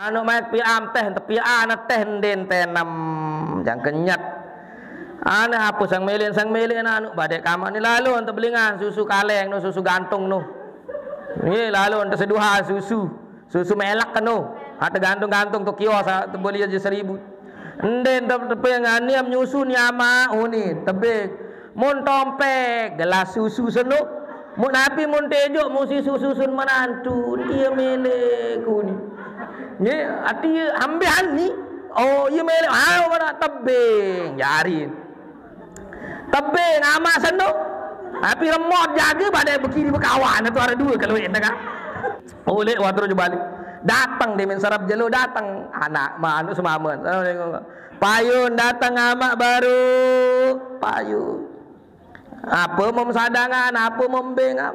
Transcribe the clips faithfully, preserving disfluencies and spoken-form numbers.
Anu maek piam teh, tepian teh nden tenem, jang kenyet. Ane ape sang melen, sang melen anu badek kamak ni lalu ente belingan susu kaleng nu, susu gantung nu. Ye, lalu ente seduhan susu, susu melek nu. Ate gantung-gantung tu kios, ah, tu beli aja seribu. Nden tep-, tepe nganiam nyusu ni ama uni, tebing. Mun tompek, gelas susu senu. Mun api mun tejo, musi susu sun menantu. Iya mele kuni. Ye, ati ambian ni. Oh, iya mele. Ah, mana tebing, jarin. Tebing, ama senu. Api remot jaga pada bekiri bekawan. Tu ada dua kalau ini kan. Oleh waktu je balik. Datang dia main sarap jelo, datang. Anak, manu semamen. Assalamualaikum. Payun datang amak baru. Payun. Apa mem sadangan, apa mem bengam.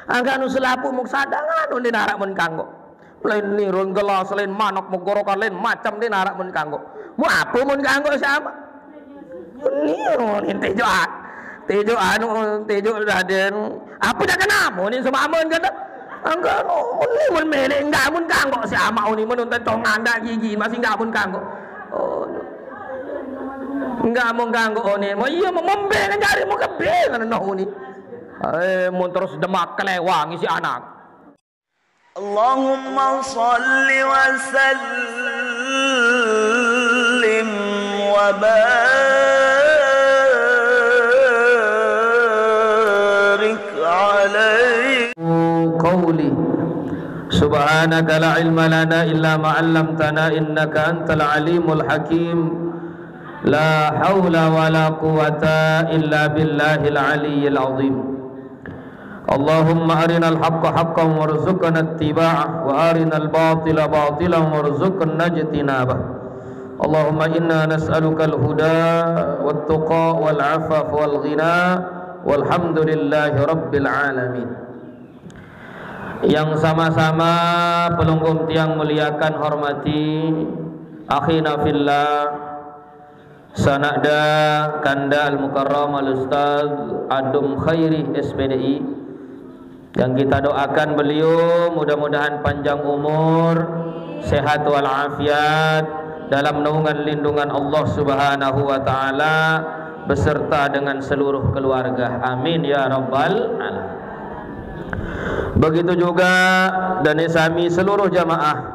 Angka nu selapuq muk sadangan, unin araq mun kanggo. Lain ni, lain gelas, lain manok, megorokan, lain macem, din araq mun kanggo. Mu apa mun kanggo sama? Ni, unin tejo a-, tejo anu, tejo daden. Apa dah kena? Unin semamen kata. Angka nu, unin mun melek, enggak mun kanggo si amaq unin, mun untan tongan dak gigi, masih enggak mun kanggo. Oh, enggak mun kanggo unin. Mau iya mau membe kan jari mau kebe kan noh unin. Eh, mun terus demak kelewang isi anak. اللهم صل وسلم وبارك عليه. قولي. سبحانك لا علم لنا إلا ما علمتنا إنك أنت العليم الحكيم. لا حول ولا قوة إلا بالله العلي العظيم. اللهم أرنا الحق حقا وارزقنا اتباعه، وأرنا الباطل باطلا وارزقنا اجتنابه. اللهم إنا نسألك الهدى والتقى والعفاف والغنى، والحمد لله رب العالمين. Yang sama-sama pelungguh tiang muliakan, hormati, akhina fillah, Sanakda kanda Al-Mukarram Al-Ustaz Adum Khairi, S P D I, yang kita doakan beliau mudah-mudahan panjang umur, sehat walafiat, dalam naungan lindungan Allah Subhanahu wa Ta'ala, beserta dengan seluruh keluarga. Amin ya Rabbal Alamin. Begitu juga dane sami seluruh jamaah,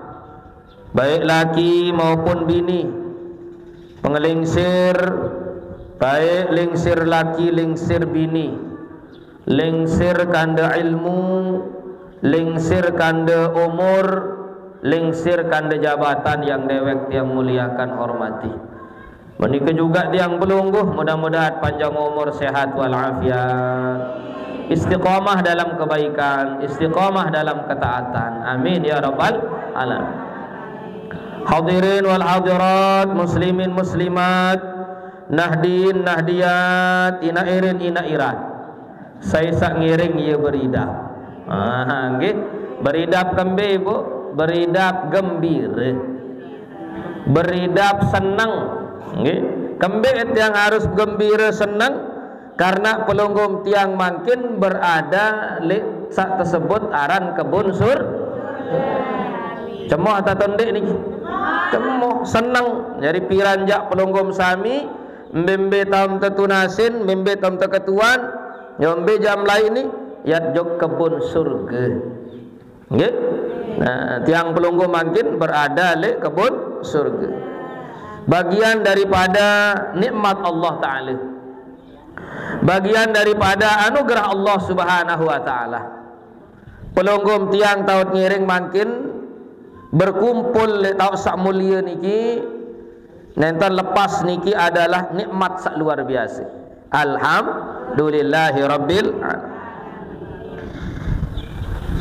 baik laki maupun bini, pengelingsir, baik lingsir laki, lingsir bini, lingsir kanda ilmu, lingsir kanda umur, lingsir kanda jabatan yang dewek tiang muliakan, hormati. Menika juga tiang pelungguh, mudah-mudahan panjang umur, sehat walafiat, istiqomah dalam kebaikan, istiqomah dalam ketaatan. Amin ya rabbal alamin. Hadirin wal hadirat, muslimin muslimat, nahdin nahdiyat, ina irin ina irat. Sai saq ngiring ie beridap. Ah, nggih. Beridap kembe, Bu? Beridap gembire. Beridap seneng. Nggih. Kembe tiang harus gembire seneng? Karena pelungguh tiang mangkin berada leq saq tesebut aran kebun sur. Cemoh atau ndeq niki? Cemoh, seneng. Jari piran jaq pelungguh sami, mbe-mbe taem tetunasin, mbe-mbe taem teketuan, yo mbe jam lain ni, yat jok kebun surge. Nggih? Nah, tiang pelungguh mangkin berada leq kebun surge. Bagian daripada nikmat Allah Ta'ala. Bagian daripada anugerah Allah Subhanahu wa Ta'ala. Pelungguh tiang taoq ngiring mangkin berkumpul leq taoq saq mulie niki, nenten lepas niki adalah nikmat saq luar biase. Alhamdulillahi rabbil alamin.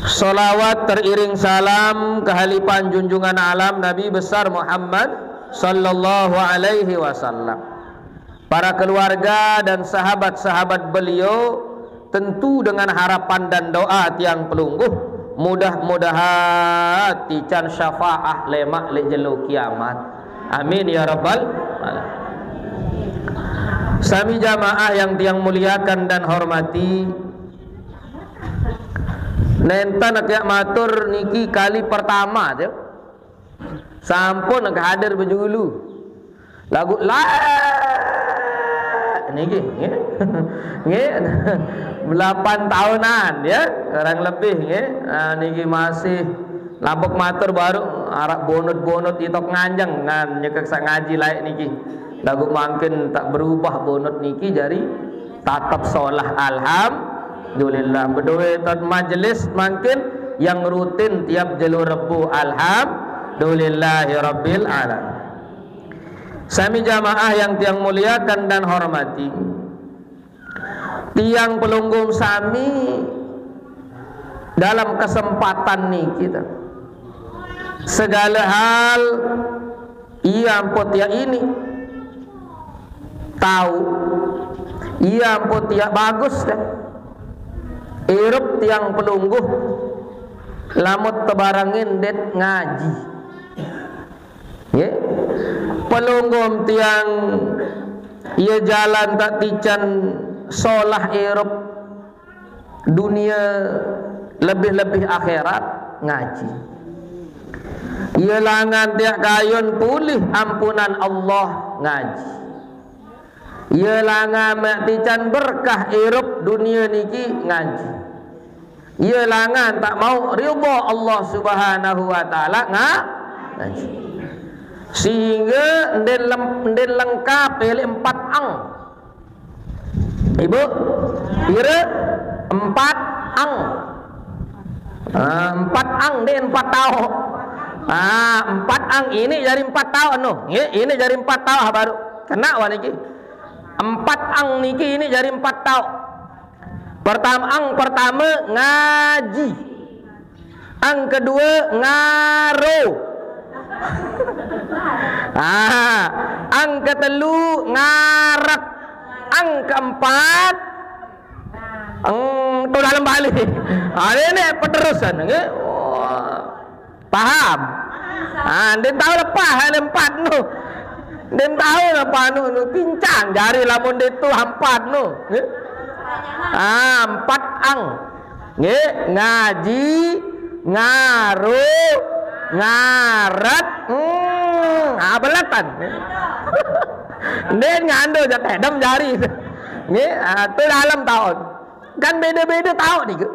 Salawat teriring salam kehalipan junjungan alam Nabi besar Muhammad sallallahu alaihi wasallam. Para keluarga dan sahabat-sahabat beliau, tentu dengan harapan dan doa tiang pelungguh, mudah-mudahan tican syafaah lemaq leq jelo kiamat. Amin ya rabbal alamin. Sami jamaah yang tiang muliakan dan hormati, nenten kiaq matur niki kali pertama, ya. Sampun kahadir bejulu. Lagu la niki, nggih. Nggih. Delapan tahunan ya, kurang lebih nggih. Nah, niki masih lampok matur baru arep bonut-bonut itok nganjeng ngan nyekek sak ngaji laik niki. Lagu mangkin tak berubah bonut niki jari tatap solah alhamdulillah. Bedoe tot majelis mangkin yang rutin tiap jelo Rebo alhamdulillahirabbil alamin. Sami jamaah yang tiang muliakan dan hormati, tiang pelungguh sami dalam kesempatan niki ta, segala hal ia ampun tiang ini tahu, ia ampun tiang bagus ta. Irup tiang pelungguh lamut tebarangin det ngaji. Nggih. Pelungguh tiang ia jalan tak tican solah irup dunia lebih-lebih akhirat ngaji. Ia langan tiak kayun pulih ampunan Allah ngaji. Ia langan mak tican berkah irup dunia niki ngaji. Ia langan tak mau ridha Allah Subhanahu wa taala nga-, ngaji. Sehingga ndin lem-, ndin lengkap elek empat ang. Ibu, kira empat ang. Ah, empat ang, ndin empat tahu. Ah, empat ang ini jari empat tahu no. Nggih, ini jari empat tahu baru. Kena wah niki. Empat ang niki ini jari empat tahu. Pertama, ang pertama ngaji. Ang kedua ngaro. Ah, ang ketelu ngarat. Ang keempat, ang tu dalam balik. Ada ni peterusan, nggih. Wah. Paham? Ah, ndin tahu lepas hal empat tu. Ndin tahu lepas tu, tu pincang jari lamun dia tu empat tu. Nggih? Ah, empat ang. Nggih, ngaji, ngaro, ngarat, hmm, ah, belatan. Ndin ngando jatah dam jari. Nggih, ah, tu dalam taun. Kan beda-beda tahu ni ke?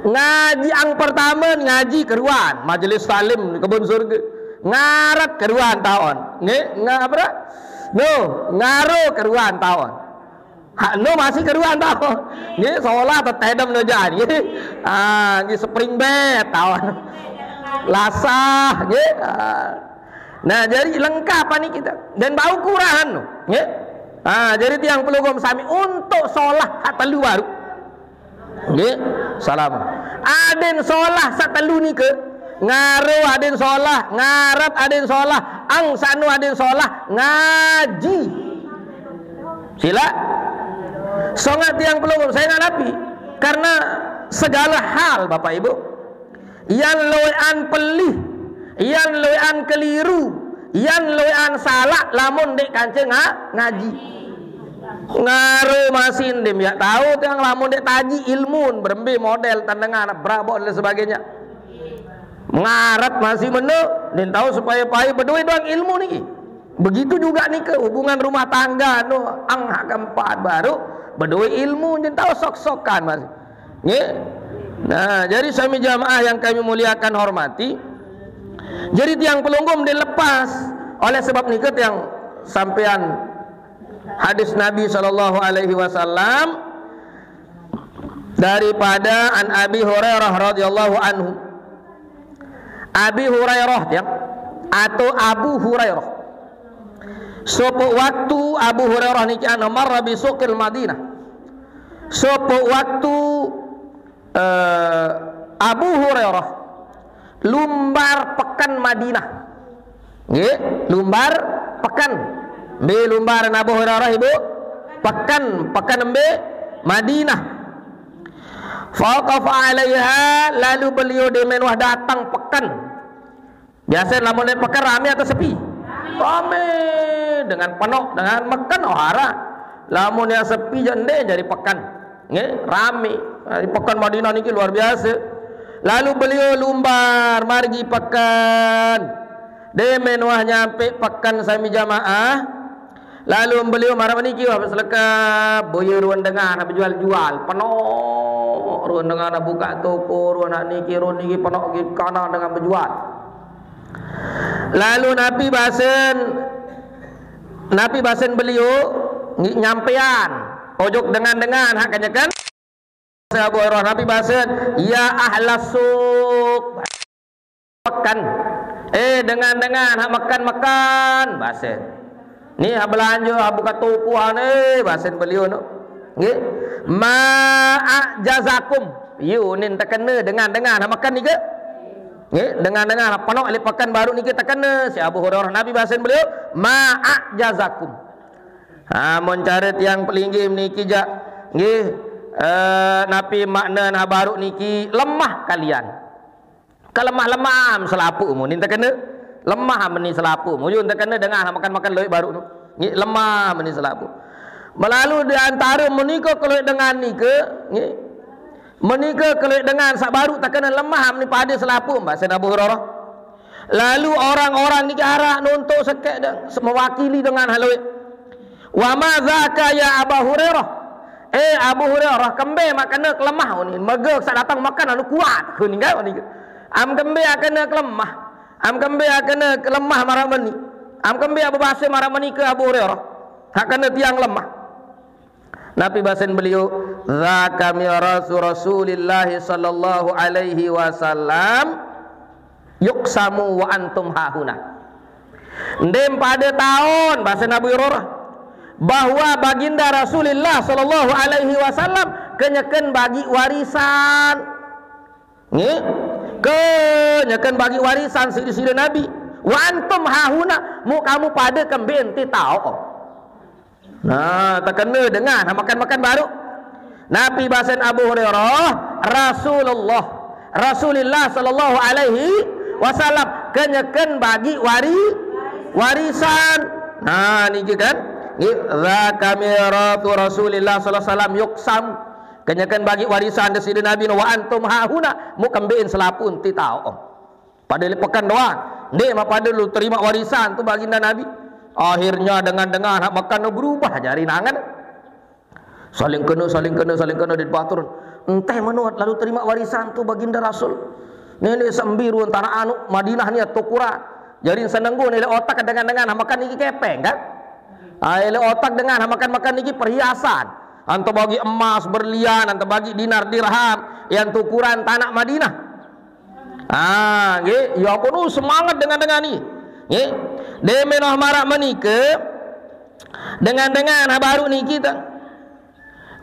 Ngaji ang pertama ngaji keruan, majelis salim kebun surga. Ngarat keruan taun. Nggih, nga-, apa dah? No, ngaro keruan taun. Ha, no masih keruan taun. Nggih, sekolah tetedem no jan. Nggih. Ah, nggih spring bed taun. Lasah, nggih. Ah. Nah, jadi lengkap ni kita. Dan bau kurang no. Nggih. Ah, jadi tiang pelugum sami untuk solah hak telu baru. Nggih, salam. Aden solah satelu nika. Ngaro aden solah, ngarat aden solah, ang sanu aden solah, ngaji. Sila. Songat tiang pelungguh, saya nganapi. Karena segala hal, Bapak Ibu, yang loean pelih, yang loean keliru, yang loean salah, lamun dek kanca nga-, ngaji. Ngaro masih ndim ya tahu tiang lamun dek taji ilmu berembe model tendengan berabot dan sebagainya. Ngarat masih meno, ndim tahu supaya pai beduit doang ilmu niki. Begitu juga nika hubungan rumah tangga no ang hak keempat baru beduit ilmu ndim tahu sok-sokan masih. Nggih. Nah, jadi sami jamaah yang kami muliakan hormati. Jadi tiang pelungguh dilepas oleh sebab nika tiang sampean hadis Nabi sallallahu alaihi wasallam daripada an Abi Hurairah radhiyallahu anhu. Abi Hurairah tiang atau Abu Hurairah. Sopo waktu Abu Hurairah niki anu marra bi suqil Madinah. Sopo waktu eh, Abu Hurairah lumbar pekan Madinah. Nggih, lumbar pekan. Mbe lumbar Abu Hurairah, Ibu? Pekan, pekan mbe? Madinah. Faqafa alaiha, lalu beliau demen wah datang pekan. Biasa lamun pekan rame atau sepi? Rame. Dengan penuh, dengan meken ohara. Lamun yang sepi je ende jadi pekan. Nggih, rame. Di pekan Madinah niki luar biasa. Lalu beliau lumbar margi pekan. Deme nuah nyampe peken sami jamaah, lalu beliau maraq niki wah beselekep, boye ruen dengan bejual-jual, penoq ruen dengan bukaq toko, ruen naq niki, ruen niki, penoq gi kanan dengan bejual. Lalu napi basen, napi basen beliau ngi-, nyampean ojok dengan-dengan hak kenyeken. Abu Hurairah, napi basen, "Ya ahlas suq." Peken. Eh, dengan-dengan hak meken-meken, basen. Ni hak belanje, hak bukaq toko, ane, basen beliau no. Nggih. "Ma a'jazakum." Yu nin tekene dengan-dengan hak meken nike. Nggih, dengan-dengan hak penoq leq peken baruq nike tekene. Si Abu Hurairah, napi basen beliau, "Ma a'jazakum." Ha, mon care tiang pelinggih niki jaq, nggih, eh, napi makne nah baruq niki, lemah kalian. Kelemah-lemah selapuq mun ninte kene. Lemah meni selapuq. Mujur ninte kene dengah nah makan-makan lueq baruq nu. Nggih, lemah meni selapuq. Melalu di antare menika kelueq dengan nike, nggih. Menika kelueq dengan saq baruq tekene lemah meni pade selapuq, basen Abu Hurairah. Lalu orang-orang niki araq nontok sekeq de-, mewakili dengan hak lueq. "Wa ma dzaka ya Aba Hurairah?" Eh, Abu Hurairah, kembe maq kene kelemah unin. Mege saq dateng meken anu kuat. Kuning kan unin. Am kembe aq kene kelemah. Am kembe aq kene kelemah maraq meni. Am kembe aq bebase maraq meni ke Abu Hurairah. Hak kene tiang lemah. Napi basen beliau? "Dzaka mirasu Rasulillah sallallahu alaihi wasallam yuqsamu wa antum hahuna." Ndeq pade taon, basen Abu Hurairah, bahwa Baginda Rasulillah sallallahu alaihi wasallam kenyeken bagi warisan. Nggih? Kenyeken bagi warisan siq side Nabi. "Wa antum hahuna," muq kamu pade kembe enti taoq. Nah, tekene dengan makan-makan baruq. Napi basen Abu Hurairah, Rasulullah, Rasulillah sallallahu alaihi wasallam kenyeken bagi wari-, warisan. Nah, niki kan? Nggih, "Dzaka miratsu Rasulillah sallallahu alaihi wasallam yuqsam." Kenyeken bagi warisan Deside Nabi, "Wa antum hahuna," muq kembeqin selapuq enti taoq. Pade leq peken doang. Ndeq mapade lu terimaq warisan tu Baginda Nabi. Akhirnya dengan-dengan hak meken berubah jari nangen. Saling kene, saling kene, saling kene, dait batur. Ente meno lalu terimaq warisan tu Baginda Rasul. Neneq sembi ruen tanaq anu Madinah ni atuq Quran. Jari senenggu ni leq otak dengan-dengan hak meken niki kepeng kan? Ah, leq otak dengan hak meken-meken niki perhiasan. Ente bagi emas, berlian, ente bagi dinar, dirham, yang tukuran tanaq Madinah. Ah, nggih, ya ampun, uh, semangat dengan-dengan ni. Nggih. Deme noh maraq menike, dengan-dengan baruq niki tah.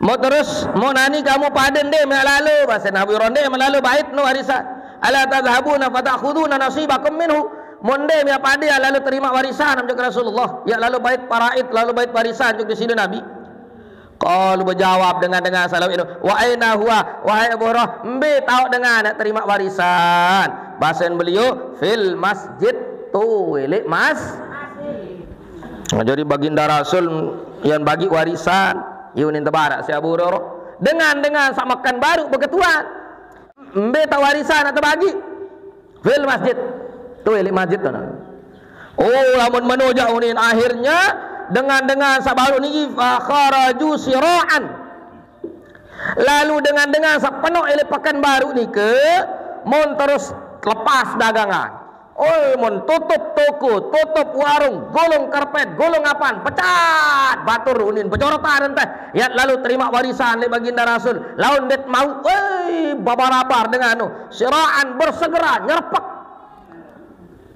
Mau terus, mau nani kamu pade ndeq meq lalo, basen Abu Hurairah, ndeq meq lalo bait no warisan. "Ala tadzhabuna fata'khuduna nasibakum minhu." Mau ndeq meq pade lalo terimaq warisan, ojok Rasulullah. Ya lalo bait paraid, lalo bait warisan, ojok Deside Nabi. Qalu, bejawab dengan-dengan saq lueq eno, "Wa aina huwa?" Wahai Abu Hurairah, mbe taoq dengan terimaq warisan? Basen beliau, "Fil masjid," tu leq mas-. Nah, jari Baginda Rasul yang bagi warisan, yunin tebaraq si Abu Hurairah. Dengan-dengan saq meken baruq beketuan. Mbe taoq warisan aq tebagi? Fil masjid. Tu leq masjid tu. Oh, lamun meno jaq unin, akhirnya dengan-dengan saq baruq niki, fa kharaju sira'an. Lalu dengan-dengan saq penoq leq peken baruq nike, mun terus lepas dagangan. Oh, mun tutup toko, tutup warung, gulung karpet, gulung apan, pecat batur unin, bejorotan ente. Yaq lalu terimaq warisan leq Baginda Rasul. Laun dait mauq, woi, babarabar dengan anu. Sira'an, bersegera, nyerepek.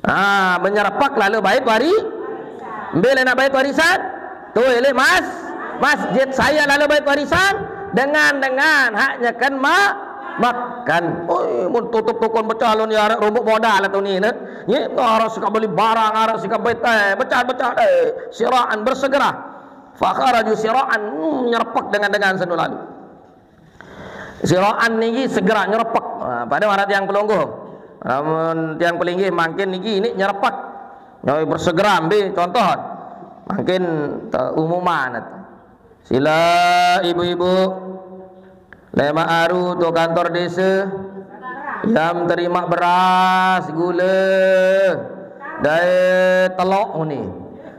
Ah, menyerepek lalu bait wari-, mbe leq naq bait warisan? Tu leq mas-, masjid. Sai lalu bait warisan? Dengan-dengan hak nyeken ma-, meken. Oi, mun tutup tokon pecah lon ya araq rombok modal tu ni, ne. Nggih, araq sika beli barang, araq sika bait, eh, pecah-pecah, eh, sira'an, bersegera. Fa kharaju sira'an, hmm, nyerepek dengan-dengan seno lalu. Sira'an niki segera nyerepek. Nah, pade maraq tiang pelungguh. Lamun tiang pelinggih mangkin niki ini nyerepek. Nyawai bersegera mbe contoh. Mangkin te-, umuman. Sila ibu-ibu. Lemaq aru tu kantor dese. Yam terimaq beras, gule. Dai Telok ni.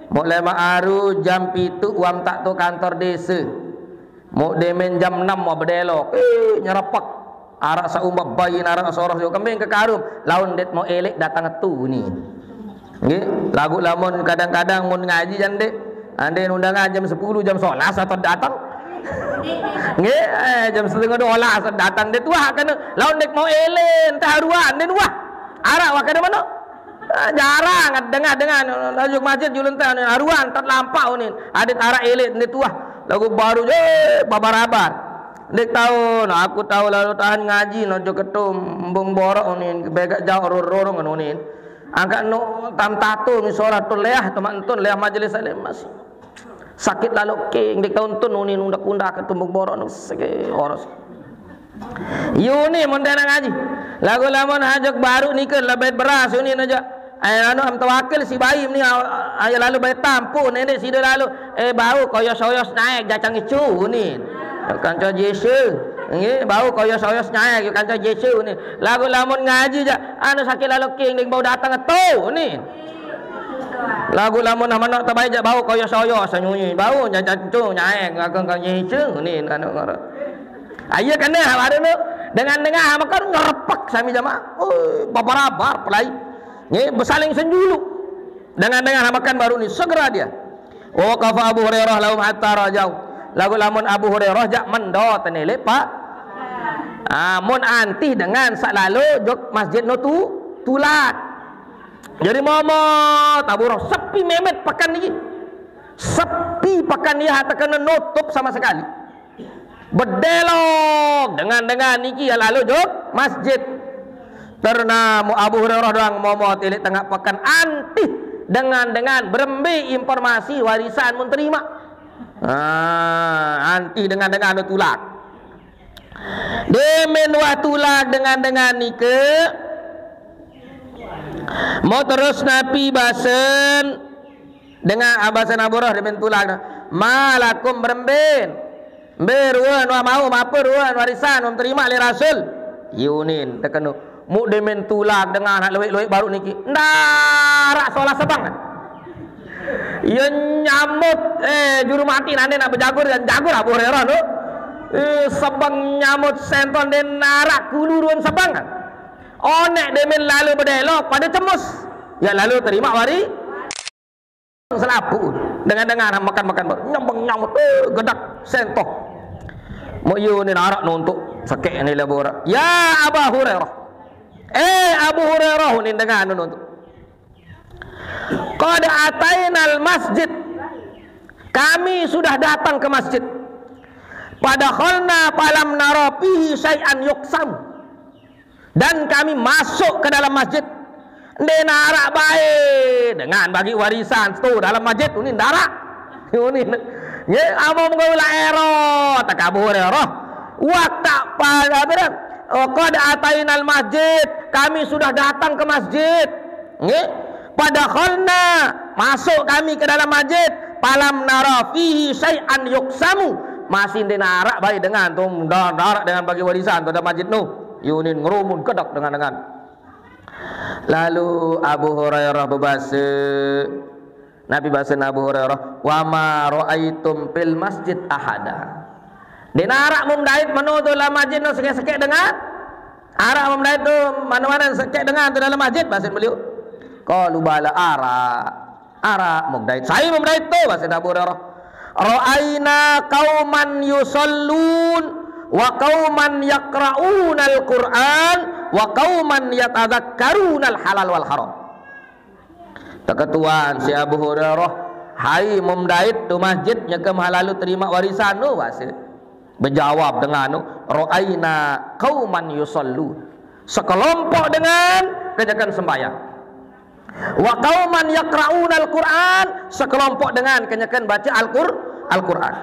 Mok lemaq aru jam pitu wam tak tu kantor desa. Mok demen jam enam wah bedelok. Eh, nyerepek. Arak saq umbah bayin, arak soros jo kembing ke karum. Laun ndeq mok eleq dateng tu ni. Nggih, laguq lamun kadang-kadang mun ngaji jan ndeq. Ande undangan jam sepuluh, jam sebelas atau dateng. Nggih, eh, jam setengah dua belas dateng ndeq tuah kene. Laun ndeq mok eleq, entah aruan ndeq wah. Arak wah kene mano? Ah, jarang dengah-dengah, laju masjid julun teh, aruan tet lampaq unin. Adeq arak eleq ndeq tuah. Laguq baru je babarabar. Ndeq tao, nah, aku tao lalo tahan ngaji, nah, jo ketum, embung borok unin, begaq jauq rorong unin. Angkat no tam tato, misolah tu leah, temak entun leah majelis alim masih. Sakit lalo king, ndeq tao entun unin, undak-undak ketum embung borok no seke oros. Yuni mun tena ngaji. Laguq lamun hajok baru nike lebet beras yuni aja. Ayo anu am tawakil si bayi ni ayo lalu bayi tampu nenek sida lalu. Eh, bau koyos-oyos naik jacang icu ni. Kanca Yesu. Nggih, bau koyos-oyos naik kanca Yesu ni. Laguq lamun ngaji jaq anu sakit lalu king ding bau dateng tu ni. Laguq lamun manok tebai jaq bau koyos-oyos nyunyi. Bau jacang icu naik ngaku kanca Yesu ni anu ngara. Ah, iya kene baru tu. Dengan-dengan makan ngerepek sami jamaah. Oh, babarabar pelai. Nggih, besaling senjulu. Dengan-dengan makan baru ni segera dia. Wa waqafa Abu Hurairah lahum hatta rajau. Laguq lamun Abu Hurairah jaq mendo tenelek, Pak. Ah, mun antih dengan saq lalo jok masjid no tu tulak. Jadi momo taburoh sepi memet pekan niki. Sepi pekan ni, hatta kena nutup sama sekali. Bedelok dengan-dengan niki ya lalu jok masjid. Terna mu Abu Hurairah doang momot ilik tengaq pekan antih dengan-dengan berembe informasi warisan mun terima. Ah, antih dengan-dengan tulak. Demen wah tulak dengan-dengan nike. Mau terus napi basen dengan abasan Abu Hurairah demen tulak. Malakum beremben. Mbe ruen wah mau mape ruen warisan wah terima le Rasul. Yunin tekenu. Muk demen tulak dengan anak lueq-lueq baru niki. Ndarak solah sebang. Iya nyamut, eh, juru mati nane nak bejagur, dan jagur Abu Hurairah tu. Eh, sebang nyamut senton de narak kulu ruen sebang. Oneq demen lalu bedelok pade cemus. Ya lalu terima wari selapuq. Dengan-dengan makan-makan baru nyembeng nyamut, eh, gedak sentoh. Muk yu ni narak nuntuk sekeq ni labora. Ya Aba Hurairah. Eh, Abu Hurairah ni dengan nuntuk. Qad atainal masjid. Kami sudah datang ke masjid. Fadakhalna falam nara fihi syai'an yuqsam. Dan kami masuk ke dalam masjid. Ndeq narak bae dengan bagi warisan tu dalam masjid, uni ndarak. Uni. Nggih, amun mengko la ero, tak Abu Hurairah. Waqta pada bidan. Oh, qad atainal masjid, kami sudah datang ke masjid. Nggih. Fadakhalna, masuk kami ke dalam masjid. Falam nara fihi syai'an yuqsamu. Masih ndeq narak bae dengan tu, ndeq narak dengan bagi warisan tu dalam masjid tu. Yunin ngerumun kedak dengan-dengan. Lalu Abu Hurairah bebase, Nabi basen Abu Hurairah, "Wa ma ra'aitum fil masjid ahada." Ndeq narak mum dait meno tu dalam masjid no sekeq-sekeq dengan. Arak mum dait tu mano-mano sekeq dengan tu dalam masjid, basen beliau. Qalu bala arak. Arak mum dait. Sai mum dait tu, basen Abu Hurairah. Ra'aina qauman yusallun wa qauman yaqra'unal Qur'an wa qauman yatadzakkarunal halal wal haram. Teketuan si Abu Hurairah, hai mum dait tu masjid nyeke maha lalu terima warisan tu, base. Bejawab dengan tu, ra'aina qauman yusallun. Sekelompok dengan kenyeken sembahyang. Wa qauman yaqra'unal Qur'an, sekelompok dengan kenyeken baca Al-Qur-, Al-Qur'an.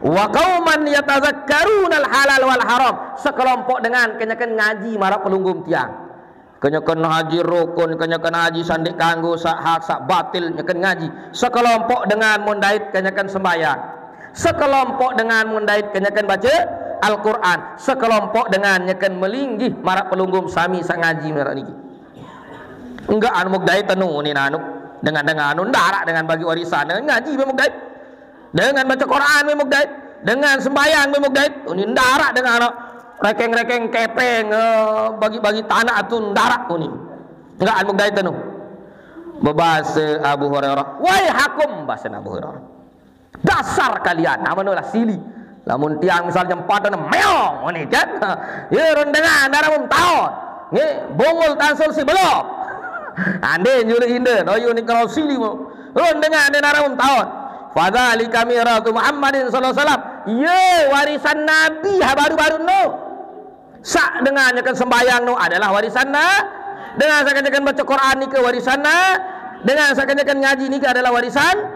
Wa qauman yatadzakkarunal halal wal haram, sekelompok dengan kenyeken ngaji maraq pelungguh tiang. Kenyeken haji rukun, kenyeken haji sandiq kanggo saq hak, saq batil, nyeken ngaji. Sekelompok dengan mundait kenyeken sembahyang. Sekelompok dengan mundait kenyeken baca Al-Qur'an. Sekelompok dengan nyeken melinggih maraq pelungguh sami saq ngaji maraq niki. Enggak anu mukdait anu ni nanu. Dengan dengan anu ndarak dengan bagi warisan, dengan ngaji be mukdait. Dengan baca Quran be mukdait. Dengan sembahyang be mukdait. Uni ndarak dengan anu rekeng-rekeng kepeng, eh, bagi-bagi tanah tu ndarak uni. Enggak anu mukdait anu. Bebasa Abu Hurairah, "Waihakum," bahasa Abu Hurairah. "Dasar kalian, amun lah sili. Lamun tiang misalnya empatan meong ni kan. Ya rendengan darah mum taon. Nge, bongol tansul si belum. Ande nyuruh inda, doyu ni kalau sili mu. Rendengan darah mum taon. Fadzalika miratu Muhammadin sallallahu alaihi wasallam." Ye warisan Nabi ha baru-baru no. Sak dengan nyakan sembahyang no adalah warisan na. Dengan sak nyakan baca Quran nika warisan na. Dengan sak nyakan ngaji nika adalah warisan.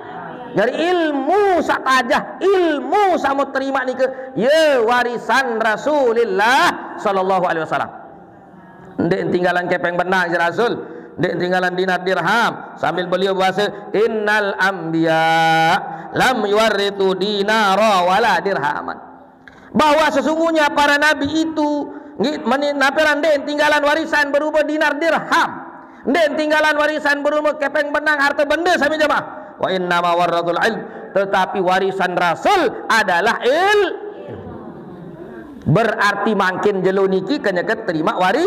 Dari ilmu sak tajah, ilmu sama terima nika, ya warisan Rasulullah sallallahu alaihi wasallam. Ndik tinggalan kepeng benang si Rasul, ndik tinggalan dinar dirham. Sambil beliau bahasa, "Innal anbiya lam yuwarritu dinara wala dirhaman." Bahwa sesungguhnya para nabi itu ngi-, meni-, naperan nde tinggalan warisan berupa dinar dirham, nde tinggalan warisan berupa kepeng benang harta benda sami jamaah. Wa inna ma warratul ilm, tetapi warisan Rasul adalah il. Berarti makin jelo niki kenyeket terima wari,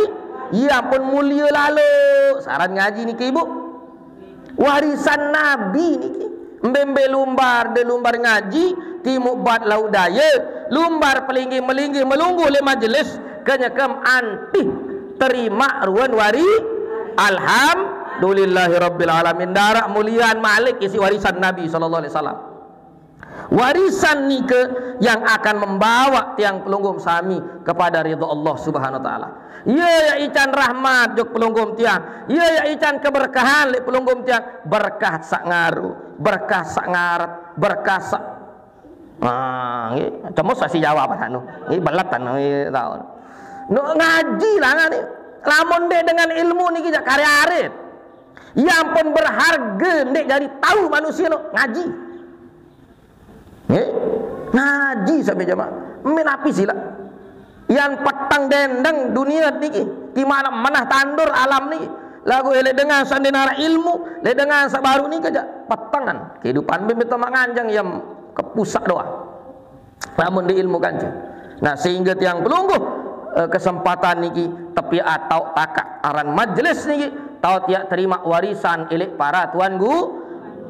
ya ampun mulia lalu. Saran ngaji niki ibu. Warisan Nabi niki. Mbembe lumbar de lumbar ngaji, timuk bat lauk daya, lumbar pelinggih melinggih melungguh le majelis, kenyekem antih terima ruan wari. Alhamdulillahirabbil alamin. Darak mulian malik isi warisan Nabi sallallahu alaihi wasallam. Warisan nike yang akan membawa tiang pelungguh sami kepada ridha Allah Subhanahu wa taala. Ia ya ican rahmat jok pelungguh tiang. Ia ya ican keberkahan le pelungguh tiang. Berkah sak ngaru, berkah sak ngarep, berkah sak. Ah, nggih, cemus sasi Jawa apa anu? Nggih belet anu nggih tahu. No ngaji lah ngani. Lamun dek dengan ilmu niki jak karya arit. Yang pun berharga dek jadi tahu manusia no ngaji. Nggih. Ngaji sampai jamaah. Min api sila. Yang petang dendeng dunia niki. Di mana menah tandur alam niki. Lagu elek dengan sandinara ilmu, le dengan sabaru niki aja petangan. Kehidupan bim beto manganjang yang kepusak doang. Namun di ilmu kanca. Nah, sehingga tiang pelungguh, eh, kesempatan niki tapi atau takak aran majelis niki tau tiak terima warisan elek para tuan gu-,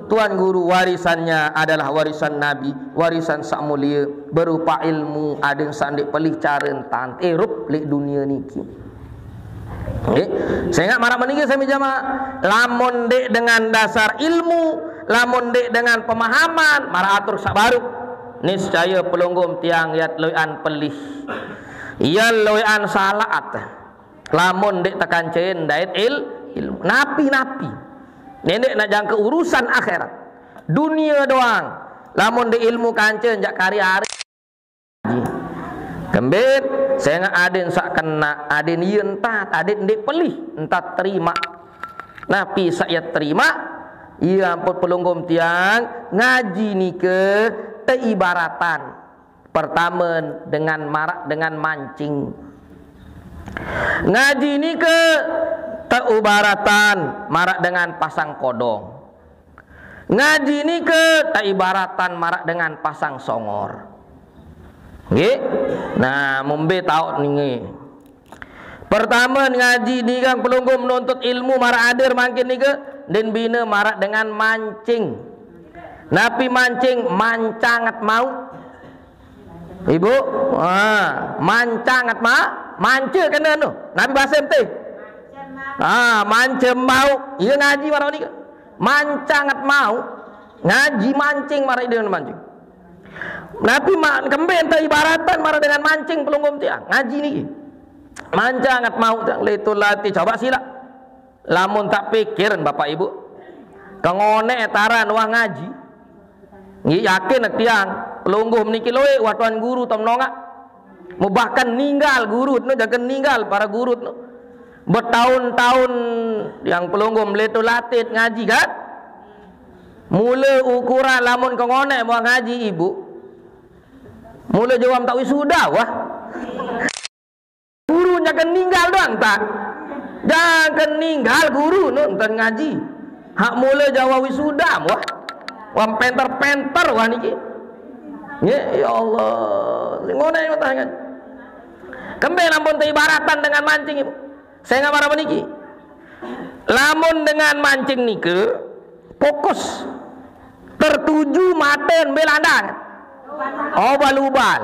tuan guru. Warisannya adalah warisan Nabi, warisan sak mulia berupa ilmu aden sandik pelih cara entan erup lek dunia niki. Nggih. Sehingga marak meniki sami jamaah, lamun dek dengan dasar ilmu, lamun dek dengan pemahaman, marak atur sak baru. Niscaya pelungguh tiang yat loyan pelih. Iya loyan salaat. Lamun dek tekancain dait il-, ilmu. Napi-napi. Nendek nak jangka urusan akhirat. Dunia doang. Lamun dek ilmu kanca jak kari-ari. Kembit, sehingga aden sak kena, aden iya entat, aden ndik pelih, entat terima. Napi sak iya terima, iya ampun pelungguh tiang, ngaji nike teibaratan. Pertama dengan marak dengan mancing. Ngaji nike teibaratan marak dengan pasang kodong. Ngaji nike teibaratan marak dengan pasang songor. Nggih. Nah, mumbe taut ninge. Pertama ngaji ni kang pelungguh menuntut ilmu marak adir mangkin nike, den bina marak dengan mancing. Napi mancing? Mancangat mau. Ibu, ah, mancangat ma, manca kena tu. Napi bahasa ente? Ah, manca mau. Iya ngaji marak nike. Mancangat mau. Ngaji mancing marak dia mancing. Napi ma-, kembe ente ibaratan marak dengan mancing pelungguh tiang. Ngaji niki. Mancangat mau tiang letul lati coba sila. Lamun tak pikirin Bapak Ibu. Kengone taran wah ngaji. Nggih yakin tiang pelungguh meniki loe wah tuan guru tom nongak. Bahkan ninggal guru no, jangan ninggal para guru no. Bertahun-tahun yang pelungguh meleto latit ngaji kan. Mula ukuran lamun kengone mau ngaji ibu. Mula jawam tak wisuda wah. Guru jangan ninggal doang tak. Jangan ninggal guru nun ten ngaji. Hak mula Jawa wisuda wah. Wah penter-penter wah niki. Nggih, ya Allah. Ngono ya tangan. Kembe lamun teibaratan dengan mancing, Ibu. Saya nggak marah niki. Lamun dengan mancing nike fokus tertuju maten belandang. Obal-ubal.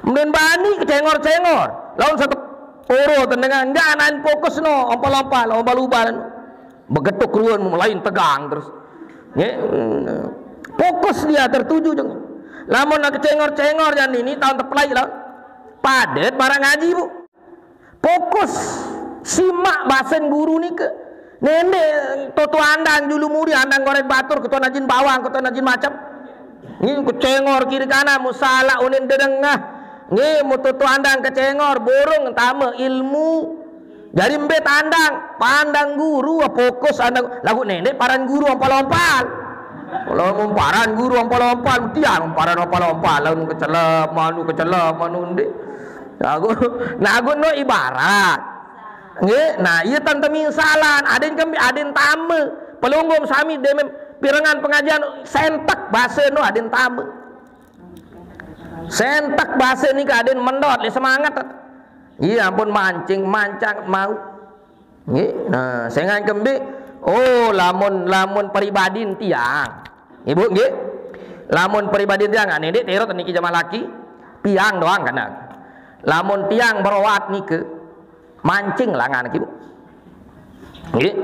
Kemudian bani kecengor-cengor. Laun satu oro tendengan enggak anain fokus no, ompal-ompal, obal-ubal. Begetuk ruan mulai tegang terus. Nggih. Fokus dia tertuju jeng. Lamun nak kecengor-cengor jan ini tahun teplai lah. Padet barang ngaji, Bu. Fokus simak basen guru nike. Nende toto andang julu muri andang goreng batur ketua najin bawang ketua najin macam. Nggih kecengor kiri kanan musala unin dedengah. Nggih mututu andang kecengor burung tame ilmu. Jadi mbet andang pandang guru fokus andang lagu nende paran guru ompal-ompal. Kalau mau paran guru ompal-ompal tiang paran ompal-ompal lalu kecelep manu kecelep manu nde. Lagu lagu no ibarat. Nggih, nah iya tante mingsalan, aden kembi aden tame. Pelunggum sami demem pirengan pengajian sentek base no aden tame. Sentek base nika aden mendot le semangat. Iya ampun mancing mancang mau. Nggih, nah sengan kembi oh lamun lamun pribadi tiang. Ibu nggih. Lamun pribadi tiang ane ndik terot niki jamaah laki piang doang kana. Lamun tiang beroat nike mancing langan niki, Bu. Nggih.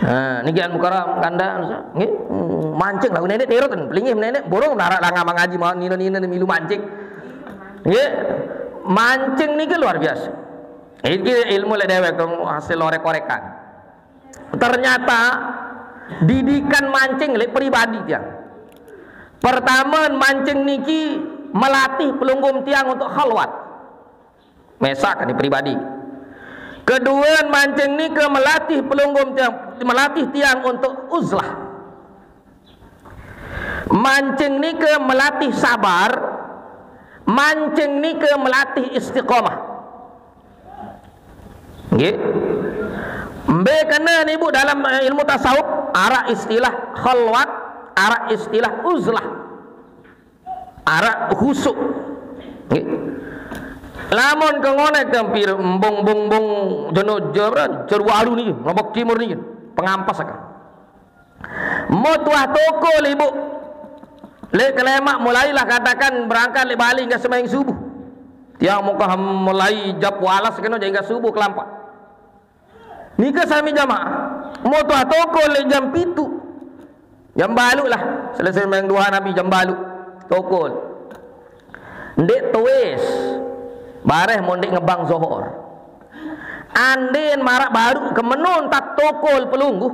Nah, niki an mukara kanda nggih. Hmm, mancing lah nenek terot pelingih nenek borong nara langa mangaji mau nina-nina milu mancing. Nggih. Mancing niki luar biasa. Iki ilmu lek dewek hasil orek-orekan. Ternyata didikan mancing lek pribadi tiang. Pertama mancing niki melatih pelunggum tiang untuk khalwat. Mesak ini pribadi. Kedua mancing niki melatih pelunggum tiang, melatih tiang untuk uzlah. Mancing niki melatih sabar. Mancing niki melatih istiqomah. Nggih. Mbe kena ni Bu dalam eh, ilmu tasawuf arak istilah khalwat, arak istilah uzlah. Arak khusuk. Nggih. Lamun ke ngonek tempir embung bung bung jeno jero jeru alu ni, lombok timur ni, pengampas akan. Mau tuah toko le Ibu. Lek kelemak mulailah katakan berangkat lek Bali enggak sembahyang subuh. Tiang muka mulai jam walas kena jadi enggak subuh kelampak. Nika sami jamaah. Mau tuah toko lek jam pitu. Jam balu lah. Selesai sembahyang duha Nabi jam balu. Toko. Ndik tuis. Bareh mau ndik ngebang zohor. Andin marak baru kemenun tak tokol pelungguh.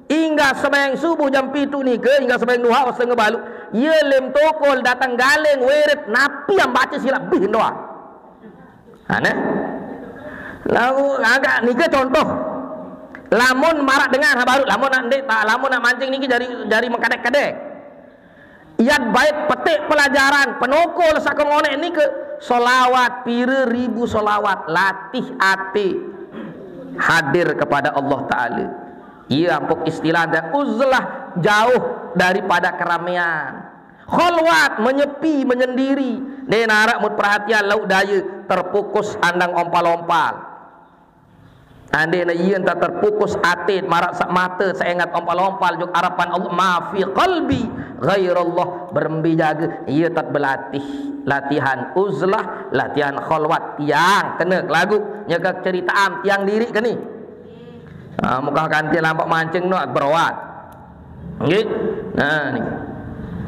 Hingga sembahyang subuh jam pitu nike, hingga sembahyang duha setengah balu. Ia lem tokol datang galeng weret napi yang baca silap bih doa. Aneh. Lalu agak nike contoh. Lamun marak dengar ha baru, lamun nak ndik tak, lamun nak mancing niki jari jari mengkadek-kadek. Yat bait petik pelajaran penokol saka ngonek nike solawat pira ribu solawat latih ati hadir kepada Allah Ta'ala. Ia ampuk istilah dan uzlah jauh daripada keramaian. Kholwat menyepi menyendiri. Dia narak mut perhatian lauk daya terpukus andang ompal-ompal. Andai na iya entah terpukus atit marak sak mata seingat ompal-ompal juk harapan Allah ma fi qalbi ghairallah berembi jaga iya tat berlatih latihan uzlah latihan kholwat tiang kena lagu nyeka cerita am tiang diri keni ha, muka kanti lampak mancing nak berawat Nggih. Nah, ni.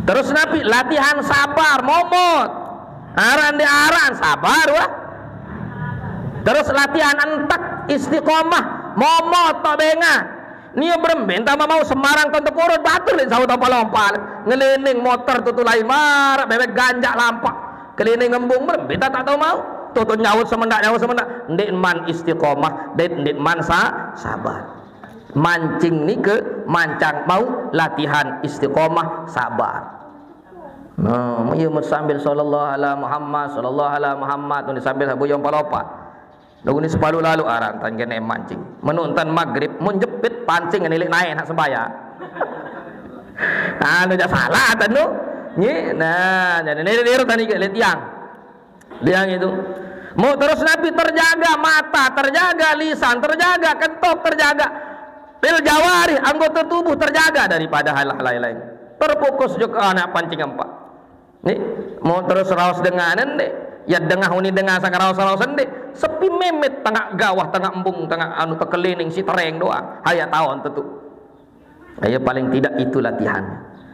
Terus napi latihan sabar momot. Aran di aran sabar wah. Terus latihan entek istiqomah momot tok benga. Nia berembe entah mau sembarang ton tepurut batur lin saut apa lompal. Ngelining motor tutu lain marak bebek ganjak lampak. Kelining embung berembe tak tak tahu mau. Tutu nyaut semendak nyaut semendak. Ndik man istiqomah, ndik ndik man sa, sabar. Mancing nike mancang mau latihan istiqomah sabar. Nah, iya mut sambil sallallahu ala Muhammad, sallallahu ala Muhammad, mut sambil sabu yang palopat. Lagu ni sepuluh lalu arang tan kena mancing. Menonton maghrib, mun jepit pancing ni lek naik nak sembahyang. Anu jak salah tanu. Nggih, nah, jadi ni dia tadi ke lek tiang. Tiang itu. Mau terus Nabi terjaga mata, terjaga lisan, terjaga kentop, terjaga fil jawarih, anggota tubuh terjaga daripada hal-hal lain-lain. Terfokus juga anak pancing empat. Ni, mau terus raos dengan ende. Ya dengah uni dengah sang raos-raos ende. Sepi memet tengah gawah, tengah embung, tengah anu tekelining si tereng doang. Haya tahun tentu. Ya paling tidak itu latihan.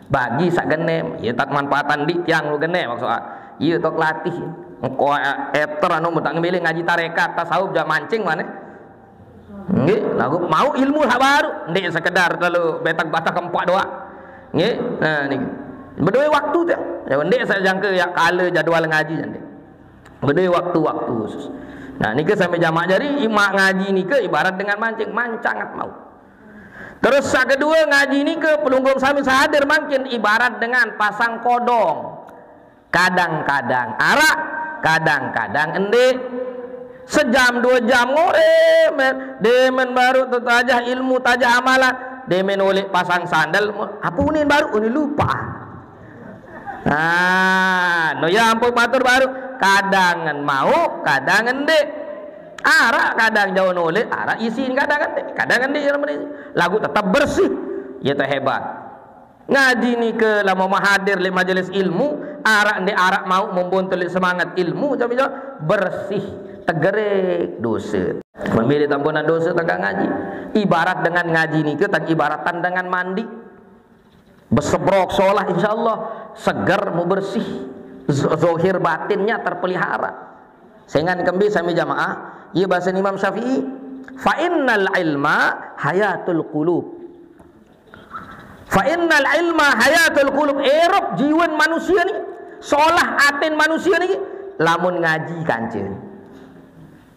Bagi sak genem, ya tak manfaatan di tiang lu genem maksud ah. Iya tok latih. Engkau eter anu tak ngemilih ngaji tarekat, tasawuf, jak mancing mana? Nggih, lagu mau ilmu hak baru, ndik sekedar lalu betak-batak empat doang. Nggih, nah ni. Berdua waktu tu. Ya ndik saya jangka ya kala jadual ngaji ndik. Berdua waktu-waktu khusus. Nah, ni ke sampai jamak jari imak ngaji ni ke ibarat dengan mancing, mancangat mau. Terus yang kedua ngaji ni ke pelunggung sami sahadir makin ibarat dengan pasang kodong. Kadang-kadang arak, kadang-kadang endik. Sejam dua jam ngore, men. Demen baru tu tajah ilmu, tajah amalan. Demen oleh pasang sandal, apa unin baru, unin lupa. Ah, no ya ampun batur baru. Kadang mau, kadang endik. Arak kadang jauh noleh, arak isin kadang endik, kadang endik dalam ni. Lagu tetap bersih. Ya tu hebat. Ngaji ni ke lama mahadir le majelis ilmu, arak ni arak mau membontel semangat ilmu, macam itu bersih, tegerek dosa. Memilih tampunan dosa tangga ngaji. Ibarat dengan ngaji ni ke tak ibaratan dengan mandi. Besebrok solah insyaallah segar mau bersih. Zohir batinnya terpelihara. Sengan kembi sami jamaah, ia bahasa Imam Syafi'i, fa innal ilma hayatul qulub. Fa innal ilma hayatul qulub. Erop jiwan manusia ni, solah atin manusia ni, lamun ngaji kancil.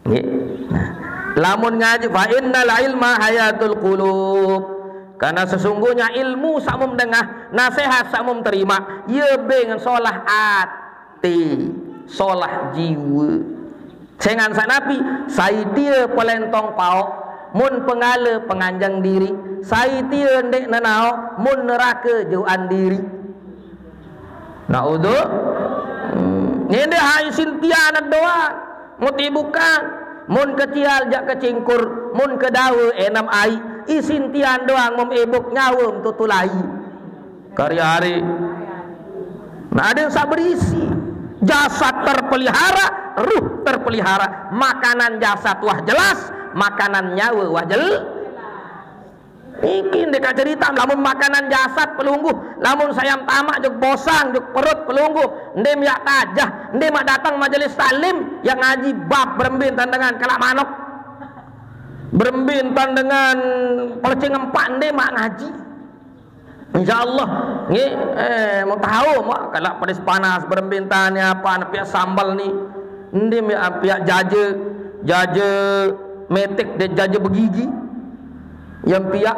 Nggih. Nah, lamun ngaji, fa innal ilma hayatul qulub. Karena sesungguhnya ilmu samum dengah, nasihat samum terima, ia beng solah ati, solah jiwa. Sengan sanapi, saitia pelentong paok, mun pengala penganjang diri, saitia ndek nenao, mun neraka juan diri. Naudzu. Hmm. Ngende hai sintian doang. Muti bukan. Mun kecial jak kecingkur, mun kedawa enam ai. Isintian doang mem ebuk nyawem tutulai. Karya hari. Nah, ada yang sak berisi. Jasad terpelihara, ruh terpelihara. Makanan jasad wah jelas, makanan nyawa wah jel. Iki ndek cerita lamun makanan jasad pelungguh, lamun sayam tamak juk bosang juk perut pelungguh, ndem yak tajah, ndem mak datang majelis taklim, yang ngaji bab berembin tandangan kelak manok. Berembin tandangan pelecing empat ndem mak ngaji. Insyaallah, nggih, eh, mau tahu mak kalau pedes panas berembin tanya apa piak sambal ni. Ndem yak piak jaje, jaje metik dan jaje begigi. Yang piak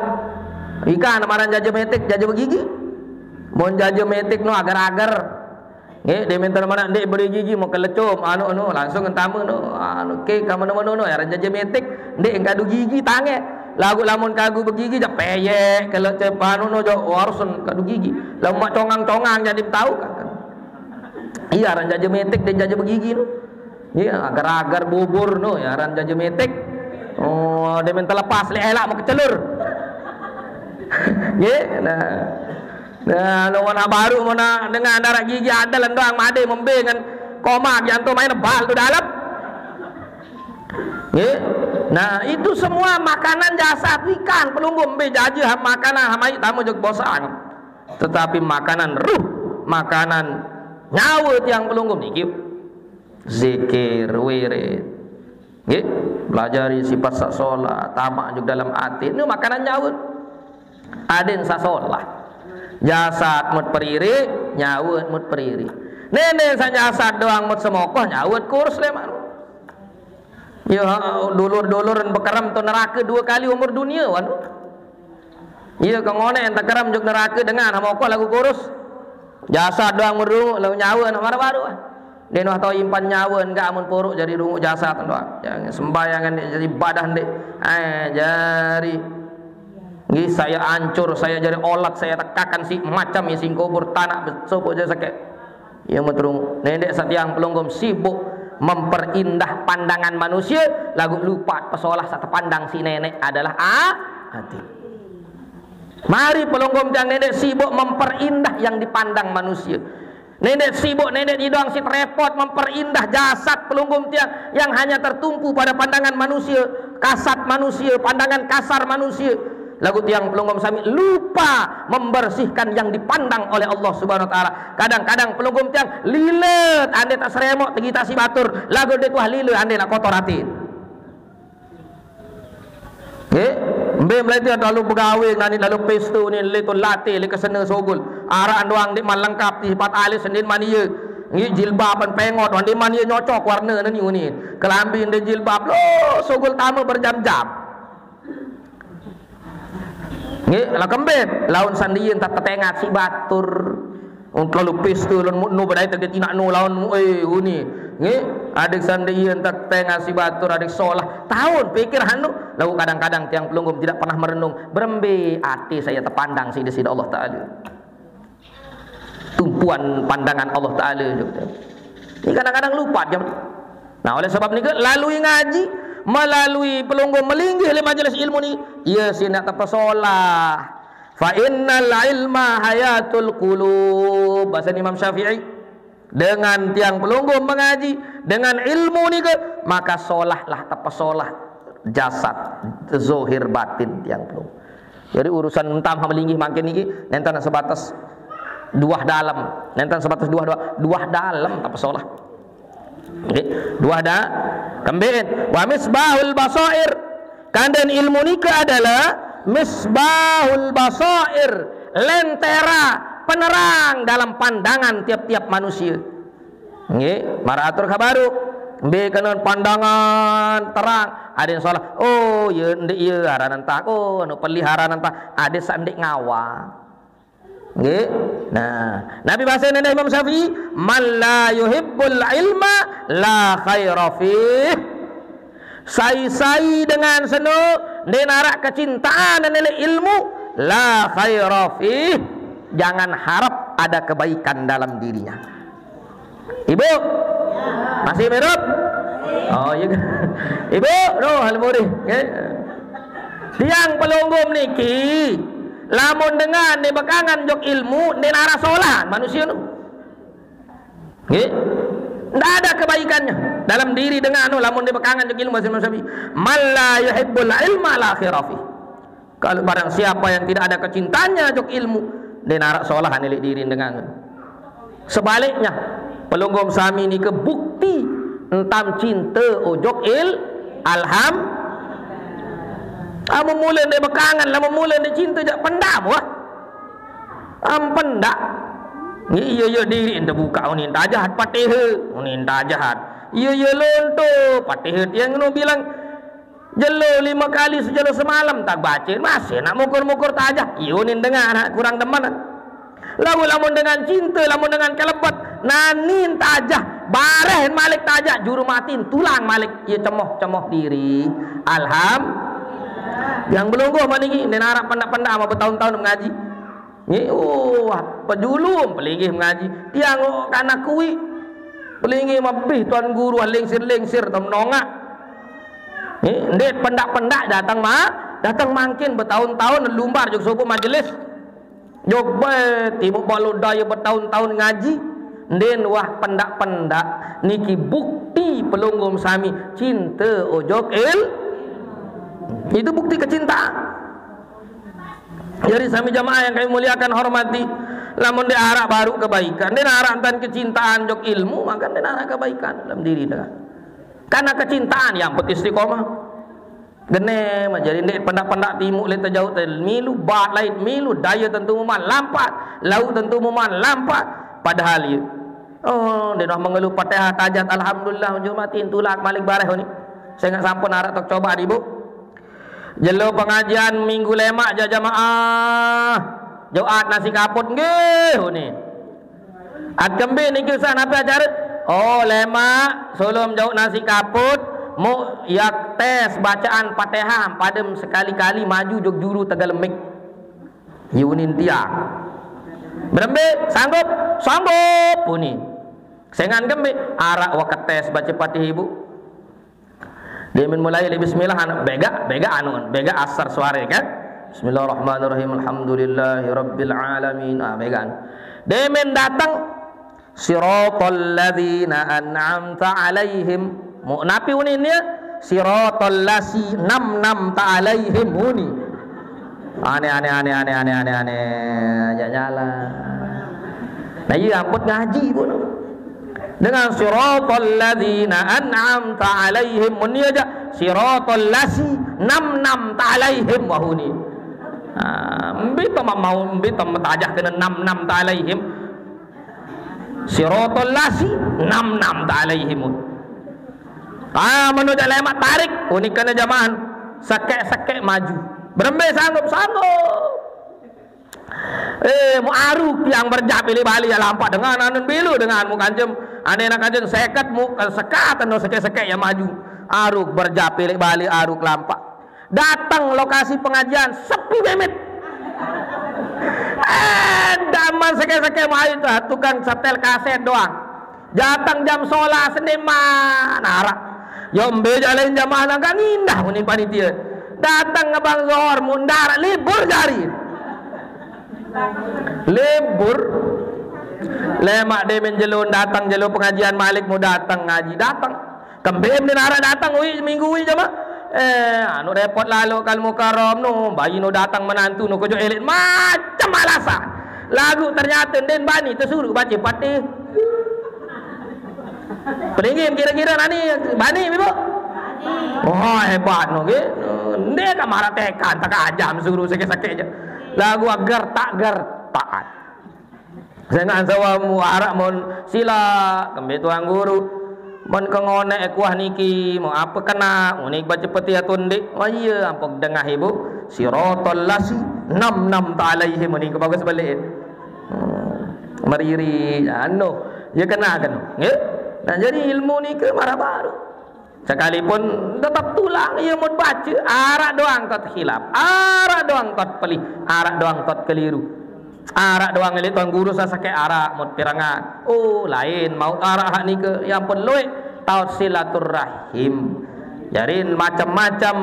ikan amaran jaje metik, jaje begigi. Mon jaje metik no agar-agar. Nggih, dia minta mana ndik beri gigi mau kelecum, anu anu langsung entama no. Anu ke kamu mana mana no, ya jaje metik, ndik kadu gigi tange. Lagu lamun kagu begigi jak peyek kalau cep anu no jok warsun kadu gigi. Lamun mak congang-congang jadi tahu kan. Iya, aran jaje metik dan jaje begigi no. Iya, agar-agar bubur no, ya aran jaje metik. Oh, dia minta lepas lek elak mau kecelur. Nggih, nah. Nah, lo mana baru mana dengan darah gigi ada lendang made membe dengan koma jantung main bal tu dalam. Nggih. Nah, itu semua makanan jasad ikan pelungguh mbe jaje ham makanan hamai tamu jog bosang. Tetapi makanan ruh, makanan nyawa tiang pelungguh niki zikir, wirid. Nggih, pelajari sifat sak solat, tamak juga dalam hati. Ini makanan nyawa. Adin sak solat. Jasad mut periri, nyawa mut periri. Nene sak jasad doang mut semokoh, nyawa kurus leman. Ya, dulur-dulur bekerem tu neraka dua kali umur dunia wan. Iya kengone ente kerem juk neraka dengan hamokoh lagu kurus. Jasad doang mut dulu, lalu nyawa nak baru-baru. Ndeq noh tao impan nyawe, enggak, amun poroq jari runguq jasad doang. Jari sembayangan ndeq, jari ibadah ndeq. Eh, jari nggih, saya hancur, saya jari olat, saya tekakan siq macem isiq kubur, tanaq besopoq jari sekeq. Ie meterung. Ndeq saq tiang pelungguh sibuk memperindah pandangan manusie, laguq lupaq pesolah saq tepandang siq Neneq adalah a-, ati. Mari pelungguh tiang, ndeq sibuk memperindah yang dipandang manusie. Ndeq sibuk, ndeq idoang siq repot memperindah jasad pelungguh tiang yang hanya tertumpu pada pandangan manusie, kasat manusie, pandangan kasar manusie. Laguq tiang pelungguh sami lupa membersihkan yang dipandang oleh Allah Subhanahu wa Taala. Kadang-kadang pelungguh tiang lile, andai taq seremoq tegitaq siq batur, laguq ndeq tuah lile, andai naq kotor atin. Nggih, mbe melaite lalo begawe nani, lalo peste ni, le to late, le kesene sogul. Araq doang ndeqman lengkap, sipat alis ndeqman ie. Nggih, jilbab pen pengot, ndeqman ie nyocok warne nani uni. Kelambi ndeq jilbab, lo sogul tame berjam-jam. Nggih, lah kembe laun sandien tak ketengat siq batur. Ung, terlalu piste lon mu-, nu bedait tegit inaq nu laun mu-, eh, uni. Nggih, adeq sandien tak tengat siq batur, adeq solah. Taun pikir anu, laguq kadang-kadang tiang pelungguh tidak pernah merenung, berembe ati saya tepandang siq Deside Allah Taala. Tumpuan pandangan Allah Taala, gitu. Ini kadang-kadang lupa dia. Nah, oleh sebab niki, lalui ngaji, melalui pelungguh melinggih leq majelis ilmu ni, ie siq ndeq tepesolah. Fa innal ilma hayatul qulub. Bahasa Imam Syafi'i. Dengan tiang pelungguh mengaji, dengan ilmu nike, maka solahlah, tepesolah jasad, zohir batin tiang pelungguh. Jadi urusan entam melinggih mangkin niki nenten sebatas duah dalem, nenten sebatas duah, duah, duah dalem tepesolah. Nggih, duah da-, kembein. Wa misbahul basair. Kanden ilmu nike adalah misbahul basair, lentera, penerang dalam pandangan tiap-tiap manusia. Nggih, maraq atur kabaruq. Mbe kenan pandangan terang, adeq solah. Oh, ye ndeq ye aranan tah. Oh, anu pelih aranan tah. Adeq saq ndeq ngawang. Nggih. Nah, napi base endah Imam Syafi'i, "Man la yuhibbul ilma la khaira fih." Sai-sai dengan seno ndeq naraq kecintaan leq ilmu, la khaira fih, jangan harap ada kebaikan dalam dirinya. Ibu? Masih hidup? Oh, iya. Ibu, roh almurih. Nggih. Tiang pelungguh niki, lamun dengan ndeq bekangan jok ilmu, ndeq naraq solah manusia nu. Nggih. Ndak ada kebaikannya dalam diri dengan nu, lamun ndeq bekangan jok ilmu, bahasa Imam Syafi'i. "Man la yuhibbul ilma la khaira fih." Kalau barang siapa yang tidak ada kecintaannya jok ilmu, ndeq naraq solah leq diri dengan. Sebaliknya, pelungguh sami nike bukti entam cinte ojok il-, alham. Amun mule ndeq bekangan, lamun mule ndeq cinte, jaq pendam wah. Am pendaq. Nggih, iye, iye diriq ente bukaq unin tajah Patihe, unin tajah. Iye, iye lonto Patihe, tiang nu bilang jelo lime kali sejelo semalem tak bace, masih nak mukur-mukur tajah. Iye unin dengah, nak kurang demen. Lamun, lamun dengan cinte, lamun dengan kelebet, nanin tajah, bareh malik tajah, juru matin tulang malik. Iye cemoh, cemoh diriq. Alham. Tiang belungguh maniki, ndeq naraq pendaq-pendaq amaq betaun-taun mengaji. Nggih, oh, pejulum pelinggih mengaji. Tiang, oh, kanak kuiq. Pelinggih mabih tuan guru, lingsir-lingsir, tem nongaq. Nggih, ndeq pendaq-pendaq dateng ma-, dateng mangkin betaun-taun lumbar jok sopoq majelis. Jok bae timuq balo daye betaun-taun ngaji. Ndeqn wah pendaq-pendaq niki bukti pelungguh sami cinte ojok il-, itu bukti kecintaan. Jadi sami jamaah yang kami muliakan, hormati, lamun ndeq araq baruq kebaikan, ndeq araq entan kecintaan jok ilmu, maka ndeq araq kebaikan dalam diri dengan. Karena kecintaan yang penting istiqomah. Genem, jadi ndeq pendaq-pendaq timuq leq tejauq te milu bat lait, milu daye tentu muman lampat, lauq tentu muman lampat. Padahal ye, oh, ndeq noh mengeluh Fatihah tajat, alhamdulillah, ujung mati tulak malik bareh ni. Sengaq sampun araq tok coba, Ibu. Jelo pengajian minggu lemaq jaq jamaah. Jumat nasi kaput nggih uni. At kembe niki usah napi acare? Oh, lemak, sebelum jauh nasi kaput, muk yak tes bacaan Fatihah, padem sekali-kali maju jok juru tegalemik. Yunin tiang. Berembe, sanggup? Sanggup, uni. Sengan kembe, arak waketes baca Fatihah ibu. Dia min mulai le bismillah, anu, bega, bega anu, bega asar suare kan? Bismillahirrahmanirrahim. Alhamdulillahirabbil alamin. Ah, bega anu. Dia min datang, siratal ladzina an'amta alaihim. Mu napi unin ya? Siratal lasi nam nam ta alaihim uni. Aneh, aneh, aneh, aneh, aneh, aneh, aneh. Aja nyala. Nah, iya ampun ngaji pun. Dengan siratal ladzina an'amta alaihim, mun iya aja siratal lasi nam nam ta alaihim wahuni. Ah, mbi to mau, mbi to matajah kena nam nam ta alaihim. Siratal lasi nam nam ta alaihim. Ah, manu jale mak tarik, uni kena jamaah. Sekek-sekek maju. Berembe sanggup, sanggup. Eh, mu aruk yang berjap pilih balik ya lampak dengan anun bilu dengan mu kancem. Ane nak kancem seket mu, eh, sekat anu seket-seket ya maju. Aruk berjap pilih balik, aruk lampak. Datang lokasi pengajian, sepi memit. Eh, daman seket-seket mu ayu tuh, tukang setel kaset doang. Datang jam solas seniman, arak. Yo mbe jalain jamaah nangka ngindah muni panitia. Datang ngebang zohor, mundar, libur jari. Libur. Lemak demen jelun datang, jelu pengajian malik mu datang ngaji, datang. Kembem din arak datang, ui, minggu ui jama. Eh, anu repot lalu kal mukarom nu, bayi nu datang menantu nu kejo elit, macam alasan. Lagu ternyata den bani tersuruh baca Fatih. Pelingin kira-kira nani bani, Ibu? Oh, hebat no, ge. Nde ka marah tekan, tak ajam suruh sakit-sakit aja. Lagu agar tak ger taat. Sengan sawa mu arak mon sila, kembe tuang guru. Mon kengone kuah niki, mau apa kena, unik baca peti atau ndik. Oh iya, ampok dengah ibu. Siratal lasi, nam nam ta alaihim, unik bagus balik. Hmm. Meriri, anu, ya kena kan. Nggih? Nah, jadi ilmu niki marah baru. Sekalipun tetap tulang, ya mau baca, arak doang tot khilaf, arak doang tot pelih, arak doang tot keliru. Arak doang elit tuan guru sasake arak mut pirangan. Oh, lain mau arak hak nike, ya ampun loe taut silaturahim. Jadi macam-macam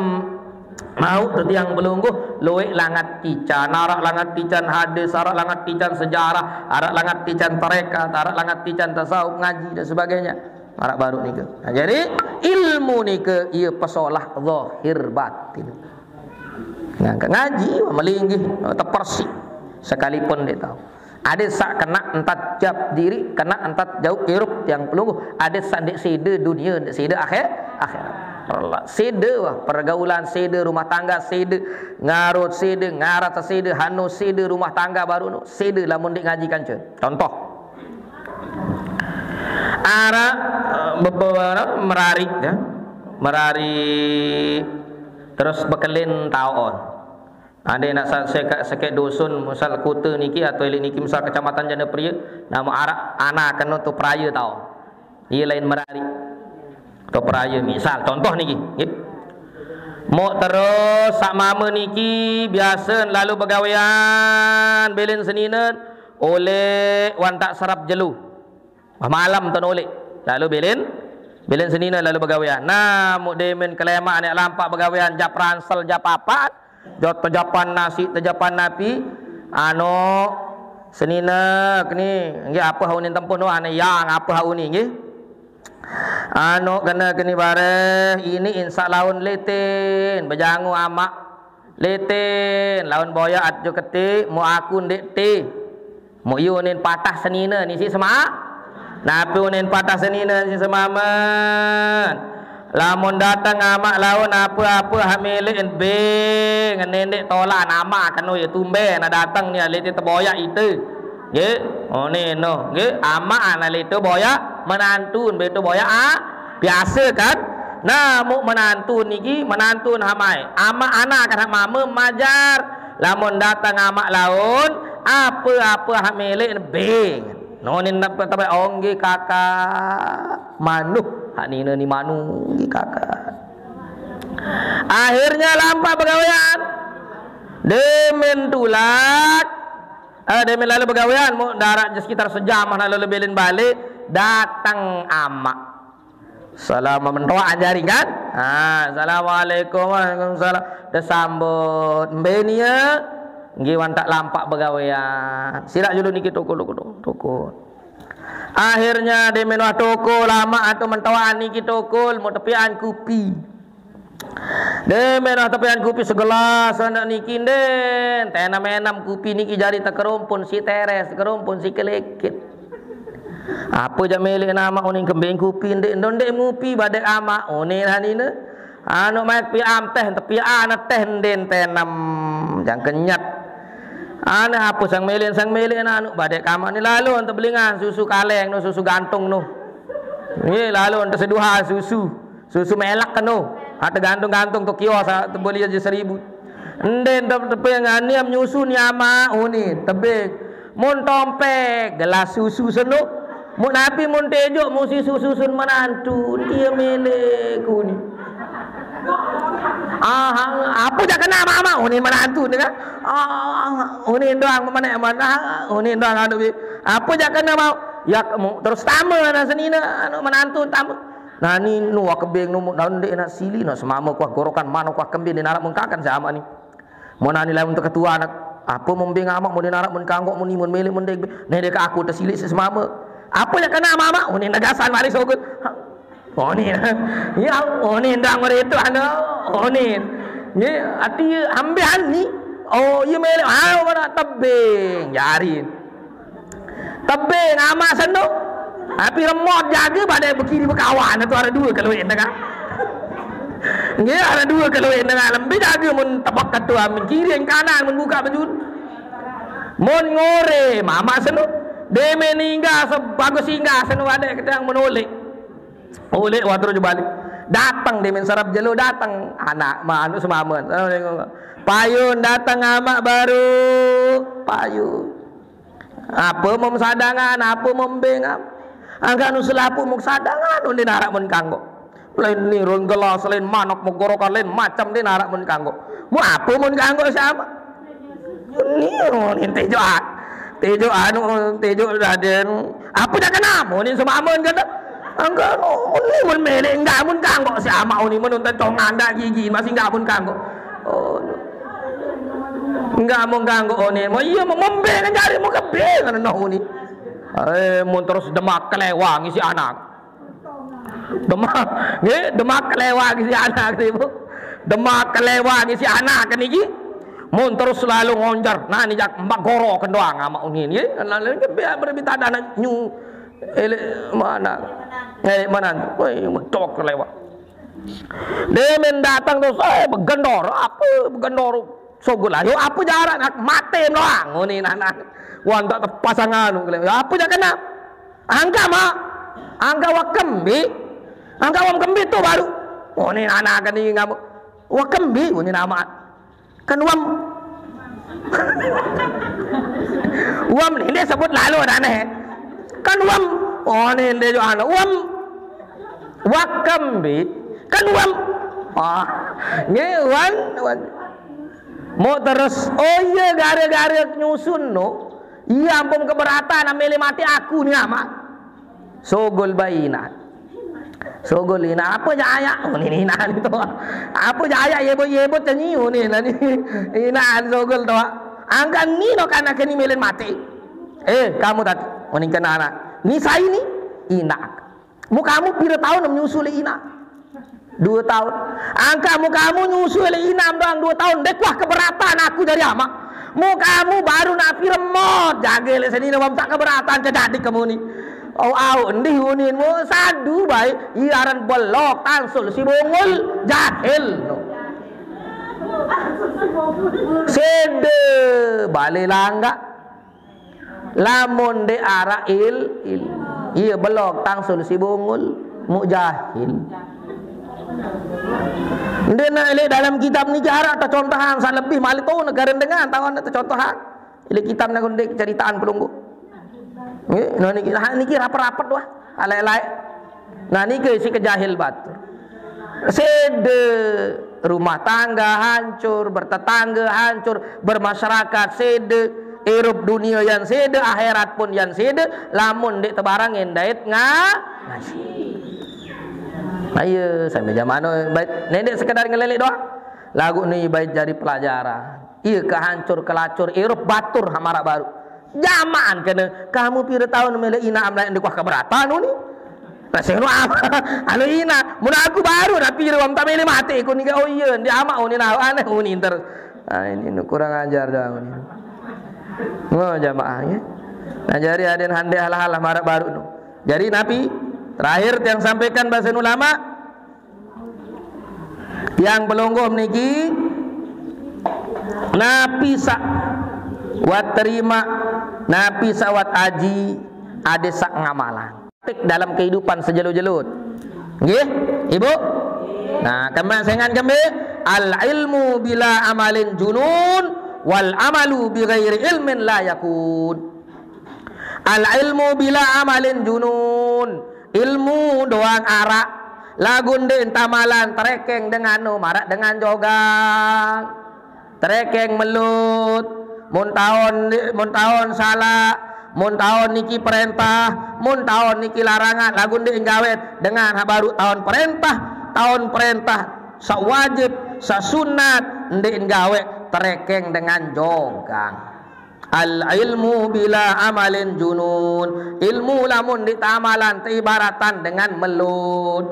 mau tu tiang belungguh, loe langat tican, arak langat tican hadis, arak langat tican sejarah, arak langat tican tarekat, arak langat tican tasawuf, ngaji dan sebagainya. Arak baru nike. Nah, jadi ilmu nike ia pesolah zahir batin. Nah, ngaji melinggih tepersi sekalipun dia tahu. Ada sak kena entat jap diri, kena entat jauh irup yang pelungguh. Ada sak dek sida dunia, dek sida akhir, akhirat. Perla-, sida wah, pergaulan sida, rumah tangga sida, ngarut sida, ngarat sida, hanu sida, rumah tangga baru nu sida lamun dek ngaji kanca. Contoh. Arak, eh, bebe-, merari, ya. Merari terus bekelin taun. Ade nak sa-, sekek, sekek dusun, misal kute niki atau elit niki, misal kecamatan Jana Pria, nama arak anak kena tu peraya tau. Ia lain merari. Tu peraya, misal, contoh niki, nggih. Mok terus sak mama niki biasa lalu begawean, belin seninen, oleh wantak serap jelu. Wah, malam ton oleh. Lalu belin, belin seninen lalu begawean. Nah, mok demen kelemak anak lampak begawean, jap ransel, jap apat, jot tejapan nasi, tejapan napi, anu, senine keni, nggih, apa haunin tempuh no, ane yang apa hauni, nggih. Anu kena keni bareh, ini insa laun letin, bejangu amak letin, laun boya at jo keti, mu aku ndik ti. Mu yu nin patah senine, ni si sema. Napi unin patah senine, si semamen. Lamun datang amak laun apa-apa hak milik be, ngenendik tolak nama kenu ya tumbe, na datang ni aliti teboyak itu. Nggih, oh ni no, nggih, amak ana litu boyak, menantun betu boyak, ah, biasa kan? Nah, muk menantun niki, menantun hamai. Amak anak kan hak mama majar. Lamun datang amak laun, apa-apa hak milik be. Nonin napa tabe, oh nggih kakak. Manuh, hanina ni manuh, nggih kakak. Akhirnya lampaq begawean. Demen tulak, eh, demen lalo begawean, mu darat je sekitar sejam, nah lalo belen balik, dateng amaq. Salam mentoaq jari kan? Ha, assalamualaikum, waalaikumsalam. Tesambut, mbe nie? Nggih, wantaq lampaq begawean. Silaq julu niki tokol, tokol, tokol. Akhirnya demen wah tokol, amaq atu mentoaq niki tokol, mu tepian kupi. Demen wah tepian kupi segelas, anak niki nden. Tenem-enem kupi niki jari tekerumpun si teres, tekerumpun si keleket. Apa jaq meleq amaq unin kembing kupi ndeq, ndo ndeq mupi badek amaq unin hanine. Anu maek piaq am teh, tepiaq ane teh nden tenem, jang kenyet. Ane apa sang meleq, sang meleq anu badek amaq ni lalo ente belingan susu kaleng no, susu gantung no. Nggih, lalo ente seduhan susu. Susu melek keno. Ha, tegantung-gantung tu kios, ha, tebeli aja seribu. Nden tep-, teping aniam nyusu ni amaq, unin, tebing. Mun tompek, gelas susu seno. Mun api, mun tejoq, mun sisu susun menantu, dia meleq kuni. Ah, apa jaq kena mama, unin menantu ni kan? Ah, unin doang menek mana, unin doang anu bi. Apa jaq kena mau? Ya, mu-, terus tame anak senine, anu menantu tame. Nah, ni nu wah kebeng nu, nah, ndeq nak sili, nak semame kuah gorokan mano kuah kembin, ni narak mengkakan sama ni. Mun ani lamun teketua anak, apa membeng amaq, mun narak mun kanggok, mun imun meleq, mun dek, ne dek aku tesilik si semame. Apa yang kena mama? Unin negasan mari sogut. Unin. Ya, unin dang mari itu anu. Unin. Ye, ati ambean ni. Oh, iya meleq. Ah, mana tebing, jarin. Tebing amaq seno. Api remot jage pade bekiri bekawan tu araq due kelueq tengah. Nggih, araq due kelueq tengah. Lembe jage mun tebek ketu amin kiri kanan mun buka bejun. Mun ngore mamaq seno. Deme ninggal sebagus singgah seno ade kedang menolek. Oleh wah terus balik. Dateng deme serep jelo dateng anak manuk semamen. Payun dateng amaq baru. Payun. Apa mem sadangan, apa mem bengam? Angkaq nu selapuq muk sadangan, unin araq mun kanggo. Lain nirun gelas, lain manok megorokan, lain macem din araq mun kanggo. Mu apa mun kanggo sama? Ni unin tejo a-, tejo anu, tejo raden. Apa dak kenam? Unin semamen kata. Angkaq nu, unin mun meleq enggak mun kanggo sama unin mun nonton tongan dak gigi masih enggak mun kanggo. Oh. Enggak mau ganggu unin. Mau iya mau membeng jari mau kebeng ngono unin. Eh, mun terus Demak kelewang isi anak. Demak, nggih, Demak kelewang isi anak niku. Demak kelewang isi anak niki. Mun terus selalu ngonjar. Nah, ni jak mbak goro kendoang sama unin nggih. Lalu biar berbitada anak nyu. Elek mana? Elek mana? Woi, medok kelewang. Demen dateng terus, eh, begendor, apa begendor? Sogol ayo, apa jarak nak mate doang. Ngene anak. Wah, tak tepasangan. Ya, apa jak kena? Angka mak. Angka wakembi. Angka wam kembi tu baru. Ngene anak kan ini ngapa? Wakembi, ngene nama. Kan uam. Uam ni dia sebut lalu dah neh. Kan uam. Oh ni dia juga anu. Uam. Wakembi. Kan uam. Ah. Ni uan, uan. Mau terus. Oh iya, gara-gara nyusun no. Iya ampun keberatan ambil mati aku ni amat. Sogol bayi inaq. Sogol inaq, apa jaq ayaq? Oh, ni inaq ni tu. Apa jaq ayaq yebut-yebut cenyi, oh, ni inaq ni. Inaq sogol tu. Angkaq ni no kanak ni melen mati. Eh, kamu tadi, oh, ni kena anak. Ni sai ni? Inaq. Mu kamu pira taun menyusu leq inaq? Due taun. Angkaq mu kamu nyusu leq inam doang due taun. Ndeq wah keberatan aku jari amaq. Mu kamu baru napi remot. Jage leq senine wah tak keberatan ke dadik kemuni. Oh, au, ndih unin mu sadu bae. Ie aran belok, tansul si bungul, jahil. Sede bale langgaq. Lamun ndeq araq il-, ilmu. Ie belok tangsul si bungul, muq jahil. Ndeqne leq dalem kitab niki araq tecontohan saq lebih maliq to negare dengan taoqne tecontohan. Leq kitab nike ndeq ceritaan pelungguh. Nggih, nah niki, nah niki rapet-rapet wah, alaik-alaik. Nah niki si kejahil batur. Sede rumah tangga hancur, bertetangga hancur, bermasyarakat sede, irup dunia yan sede, akhirat pun yan sede, lamun ndeq tebarengin dait nga-, ngaji. Ayo, sambil jamaah no, bait, ndeq sekedar ngelelik doang. Laguq ni bait jari pelajaran. Iya, kehancur kelacur, irup batur maraq baruq. Jamaan kene, kamu pire taun mele inaq am lain dikuah keberatan uni. Nah, sing anu apa? Anu inaq, mun aku baruq dah pire wong tak mele mate ku nike. Oh iya, ndi amaq uni nah aneh uni terus. Nah, ini nu kurang ajar doang uni. Ngo jamaah ya. Nah, jari aden hande hal-hal maraq baruq nu. Jari napi terakhir tiang sampaikan basen ulama, tiang pelungguh niki napi saq wah terima, napi saq wah aji, ade saq ngamalang. Tik dalam kehidupan sejelo-jelo. Nggih, Ibu? Nah, kembang sengan kembe, al ilmu bila amalin junun, wal amalu bi ghairi ilmin la yakun. Al ilmu bila amalin junun. Ilmu doang araq, laguq ndeq tamalan, terekeng dengan nu maraq dengan jogang. Terekeng melut, mun taon, mun taon salaq, mun taon niki perentah, mun taon niki larangan, laguq ndeq gaweq dengan haq baruq taon perentah, taon perentah saq wajib, saq sunat, ndeq gaweq, terekeng dengan jogang. Al ilmu bila amalin junun. Ilmu lamun ndeq teamalan teibaratan dengan melut.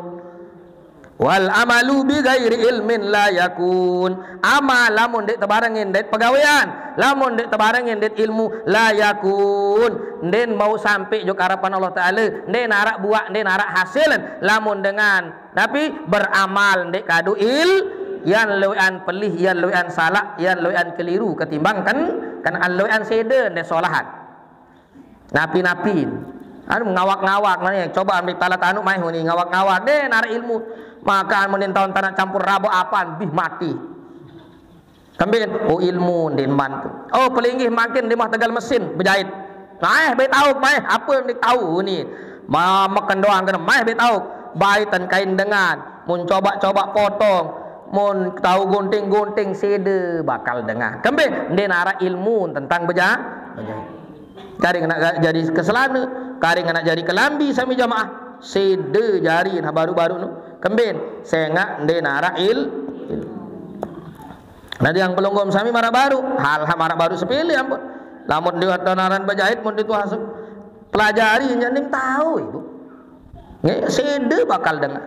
Wal amalu bi ghairi ilmin la yakun. Amal lamun ndeq tebarengin dait pegawean, lamun ndeq tebarengin dait ilmu, la yakun. Ndeqn mauq sampe jok arepan Allah Taala, ndeqn araq buaq, ndeqn araq hasil. Lamun dengan napi beramal ndeq kadu il, yan lueqan pelih, yan lueqan salaq, yan lueqan keliru ketimbang ken, ken lueqan sede ndeq solahan. Napi-napi. Anu ngawak-ngawak mane, coba ambil talat anu maeh uni ngawak-ngawak. Ndeqn araq ilmu. Makan mending taun tanaq campur rabok apaan, bih mati. Kemben, oh ilmu ndeqn mantu. Oh pelinggih makin di mah tegal mesin bejait. Maeh be tauk, maeh ape ndeq tau ni. Ma-, meken doang kene, maeh be tauk. Baitan kain dengan, mun coba-coba potong, mun tau gunting-gunting sede bakal dengan. Kemben, ndeqn araq ilmu tentang beja-, bejait. Karing nak jari keselane, karing nak jari kelambi sami jamaah. Sede jari nah baruq-baruq nu. Kemben, sengaq ndeqn araq il-, il-. Nah, tiang pelungguh sami maraq baruq, hal-hal maraq baruq sepele ampun. Lamun dewat donaran bejait mun dituah asup. Pelajari nyak nim tau, Ibu. Nggih, sede bakal dengan.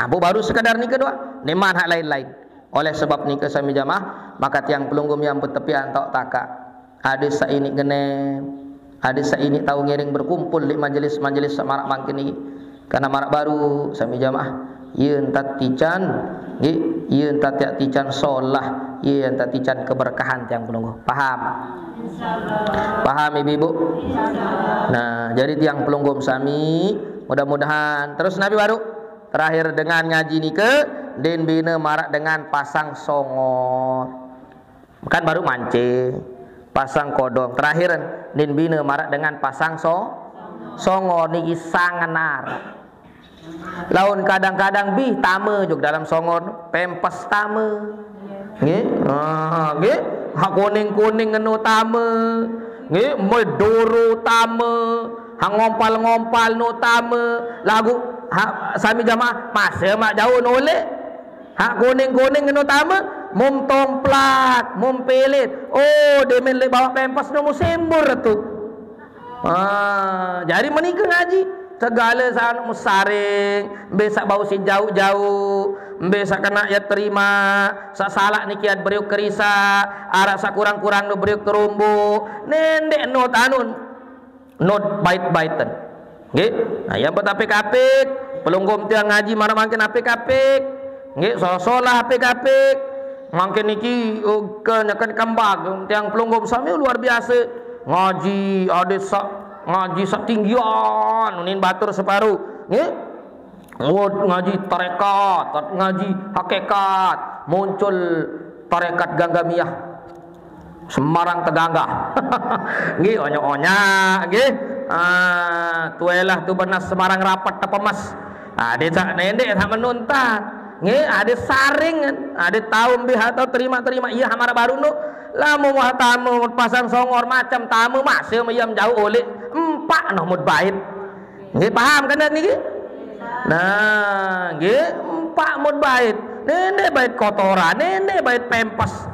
Ampun baruq sekadar nike doang. Niman hak lain-lain. Oleh sebab nike sami jamaah, maka tiang pelungguh yang betepian tau takak. Ade saq iniq genem, ade saq iniq tau ngiring berkumpul leq majelis-majelis saq maraq mangkin niki. Karena maraq baruq sami jamaah, ie ntat tican, nggih, ie ntat tiaq tican solah, ie ntat tican keberkahan tiang pelungguh. Paham? Paham, Ibu-ibu? Nah, jadi tiang pelungguh sami, mudah-mudahan terus napi baruq terakhir dengan ngaji nike, ndeqn bine maraq dengan pasang songor. Kan baruq mancing, pasang kodong. Terakhir, ndeqn bine maraq dengan pasang so-, songor niki sangenar. Laun kadang-kadang bih tame jok dalam songor, pempes tame. Nggih? Ah, nggih. Hak kuning-kuning ngeno tame. Nggih, medoro tame. Hak ngompal-ngompal no tame. Laguq hak sami jamaah, mase maq jauq nolek. Hak kuning-kuning ngeno tame, mum tomplak, mum pelet. Oh, demen leq bawaq pempes no musembur tu. Ah, jari menike ngaji. Segale saq anu mesaring, mbe saq bau siq jauq-jauq, mbe saq kenaq yaq terima, saq salaq niki yaq beriuk kerisaq, araq saq kurang-kurang no beriuk teromboq. Nendeq no tanun. Not bait-baiten. Nggih. Nah, yang bet apik-apik, pelungguh tiang ngaji maraq mangkin apik-apik. Nggih, solah-solah apik-apik. Mangkin niki, oh, kenyeken kembang tiang pelungguh sami luar biasa. Ngaji ade saq, ngaji saq tinggian, unin batur separo. Nggih. Ngut ngaji tarekat, ngaji hakikat, muncul tarekat Ganggamiyah. Semarang teganggah. Nggih, onyak-onyak, nggih. Ah, tuelah tu benas semarang rapat tepemas. Ade sak nendek sak menuntan. Nggih, ade saring, ade taum biha tau terima-terima iya hamara baru nu. Lamun wah tamu pasang songor macam tamu masih meyam jauh oleh empak noh mut bait. Nggih, paham kan niki? Nah, nggih, empak mut bait. Nende bait kotoran, nende bait pempes.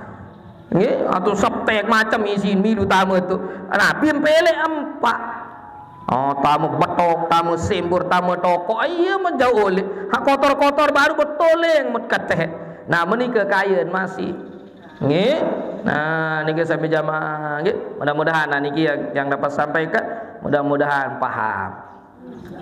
Nggih, atau sepek macam isi milu tamu tu. Nabi empelek empak. Oh, tamu betok, tamu simbur, tamu tokok. Iya menjauh oleh. Ha kotor-kotor baru betoleng mut keteh. Nah, menika kayen masih. Nggih. Nah, niki sami jamaah nggih. Mudah-mudahan nah niki yang, yang dapat sampaikan, mudah-mudahan paham.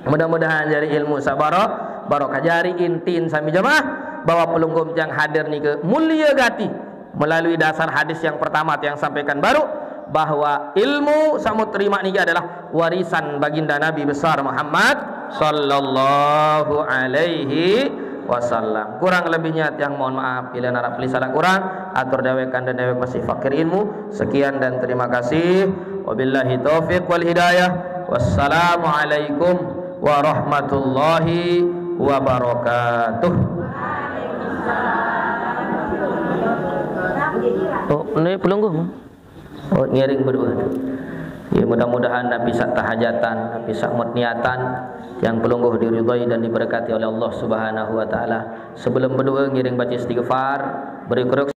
Mudah-mudahan jari ilmu sabaro barokah, jari intin sami jamaah bahwa pelungguh yang hadir niki mulia gati melalui dasar hadis yang pertama yang sampaikan baru, bahwa ilmu samut terima niki adalah warisan baginda Nabi besar Muhammad sallallahu alaihi wasallam. Kurang lebihnya tiang mohon maaf, bila narap beli salah kurang, atur dewekan dan dewek masih fakir ilmu. Sekian dan terima kasih. Wabillahi taufiq wal hidayah. Wassalamualaikum warahmatullahi wabarakatuh. Oh, ini pelungguh. Oh, ngiring berdua. Ya, mudah-mudahan Nabi sak tahajatan, Nabi sak mut niatan, yang pelungguh diridhai dan diberkati oleh Allah Subhanahu wa taala. Sebelum berdua ngiring baca istighfar, beri keruk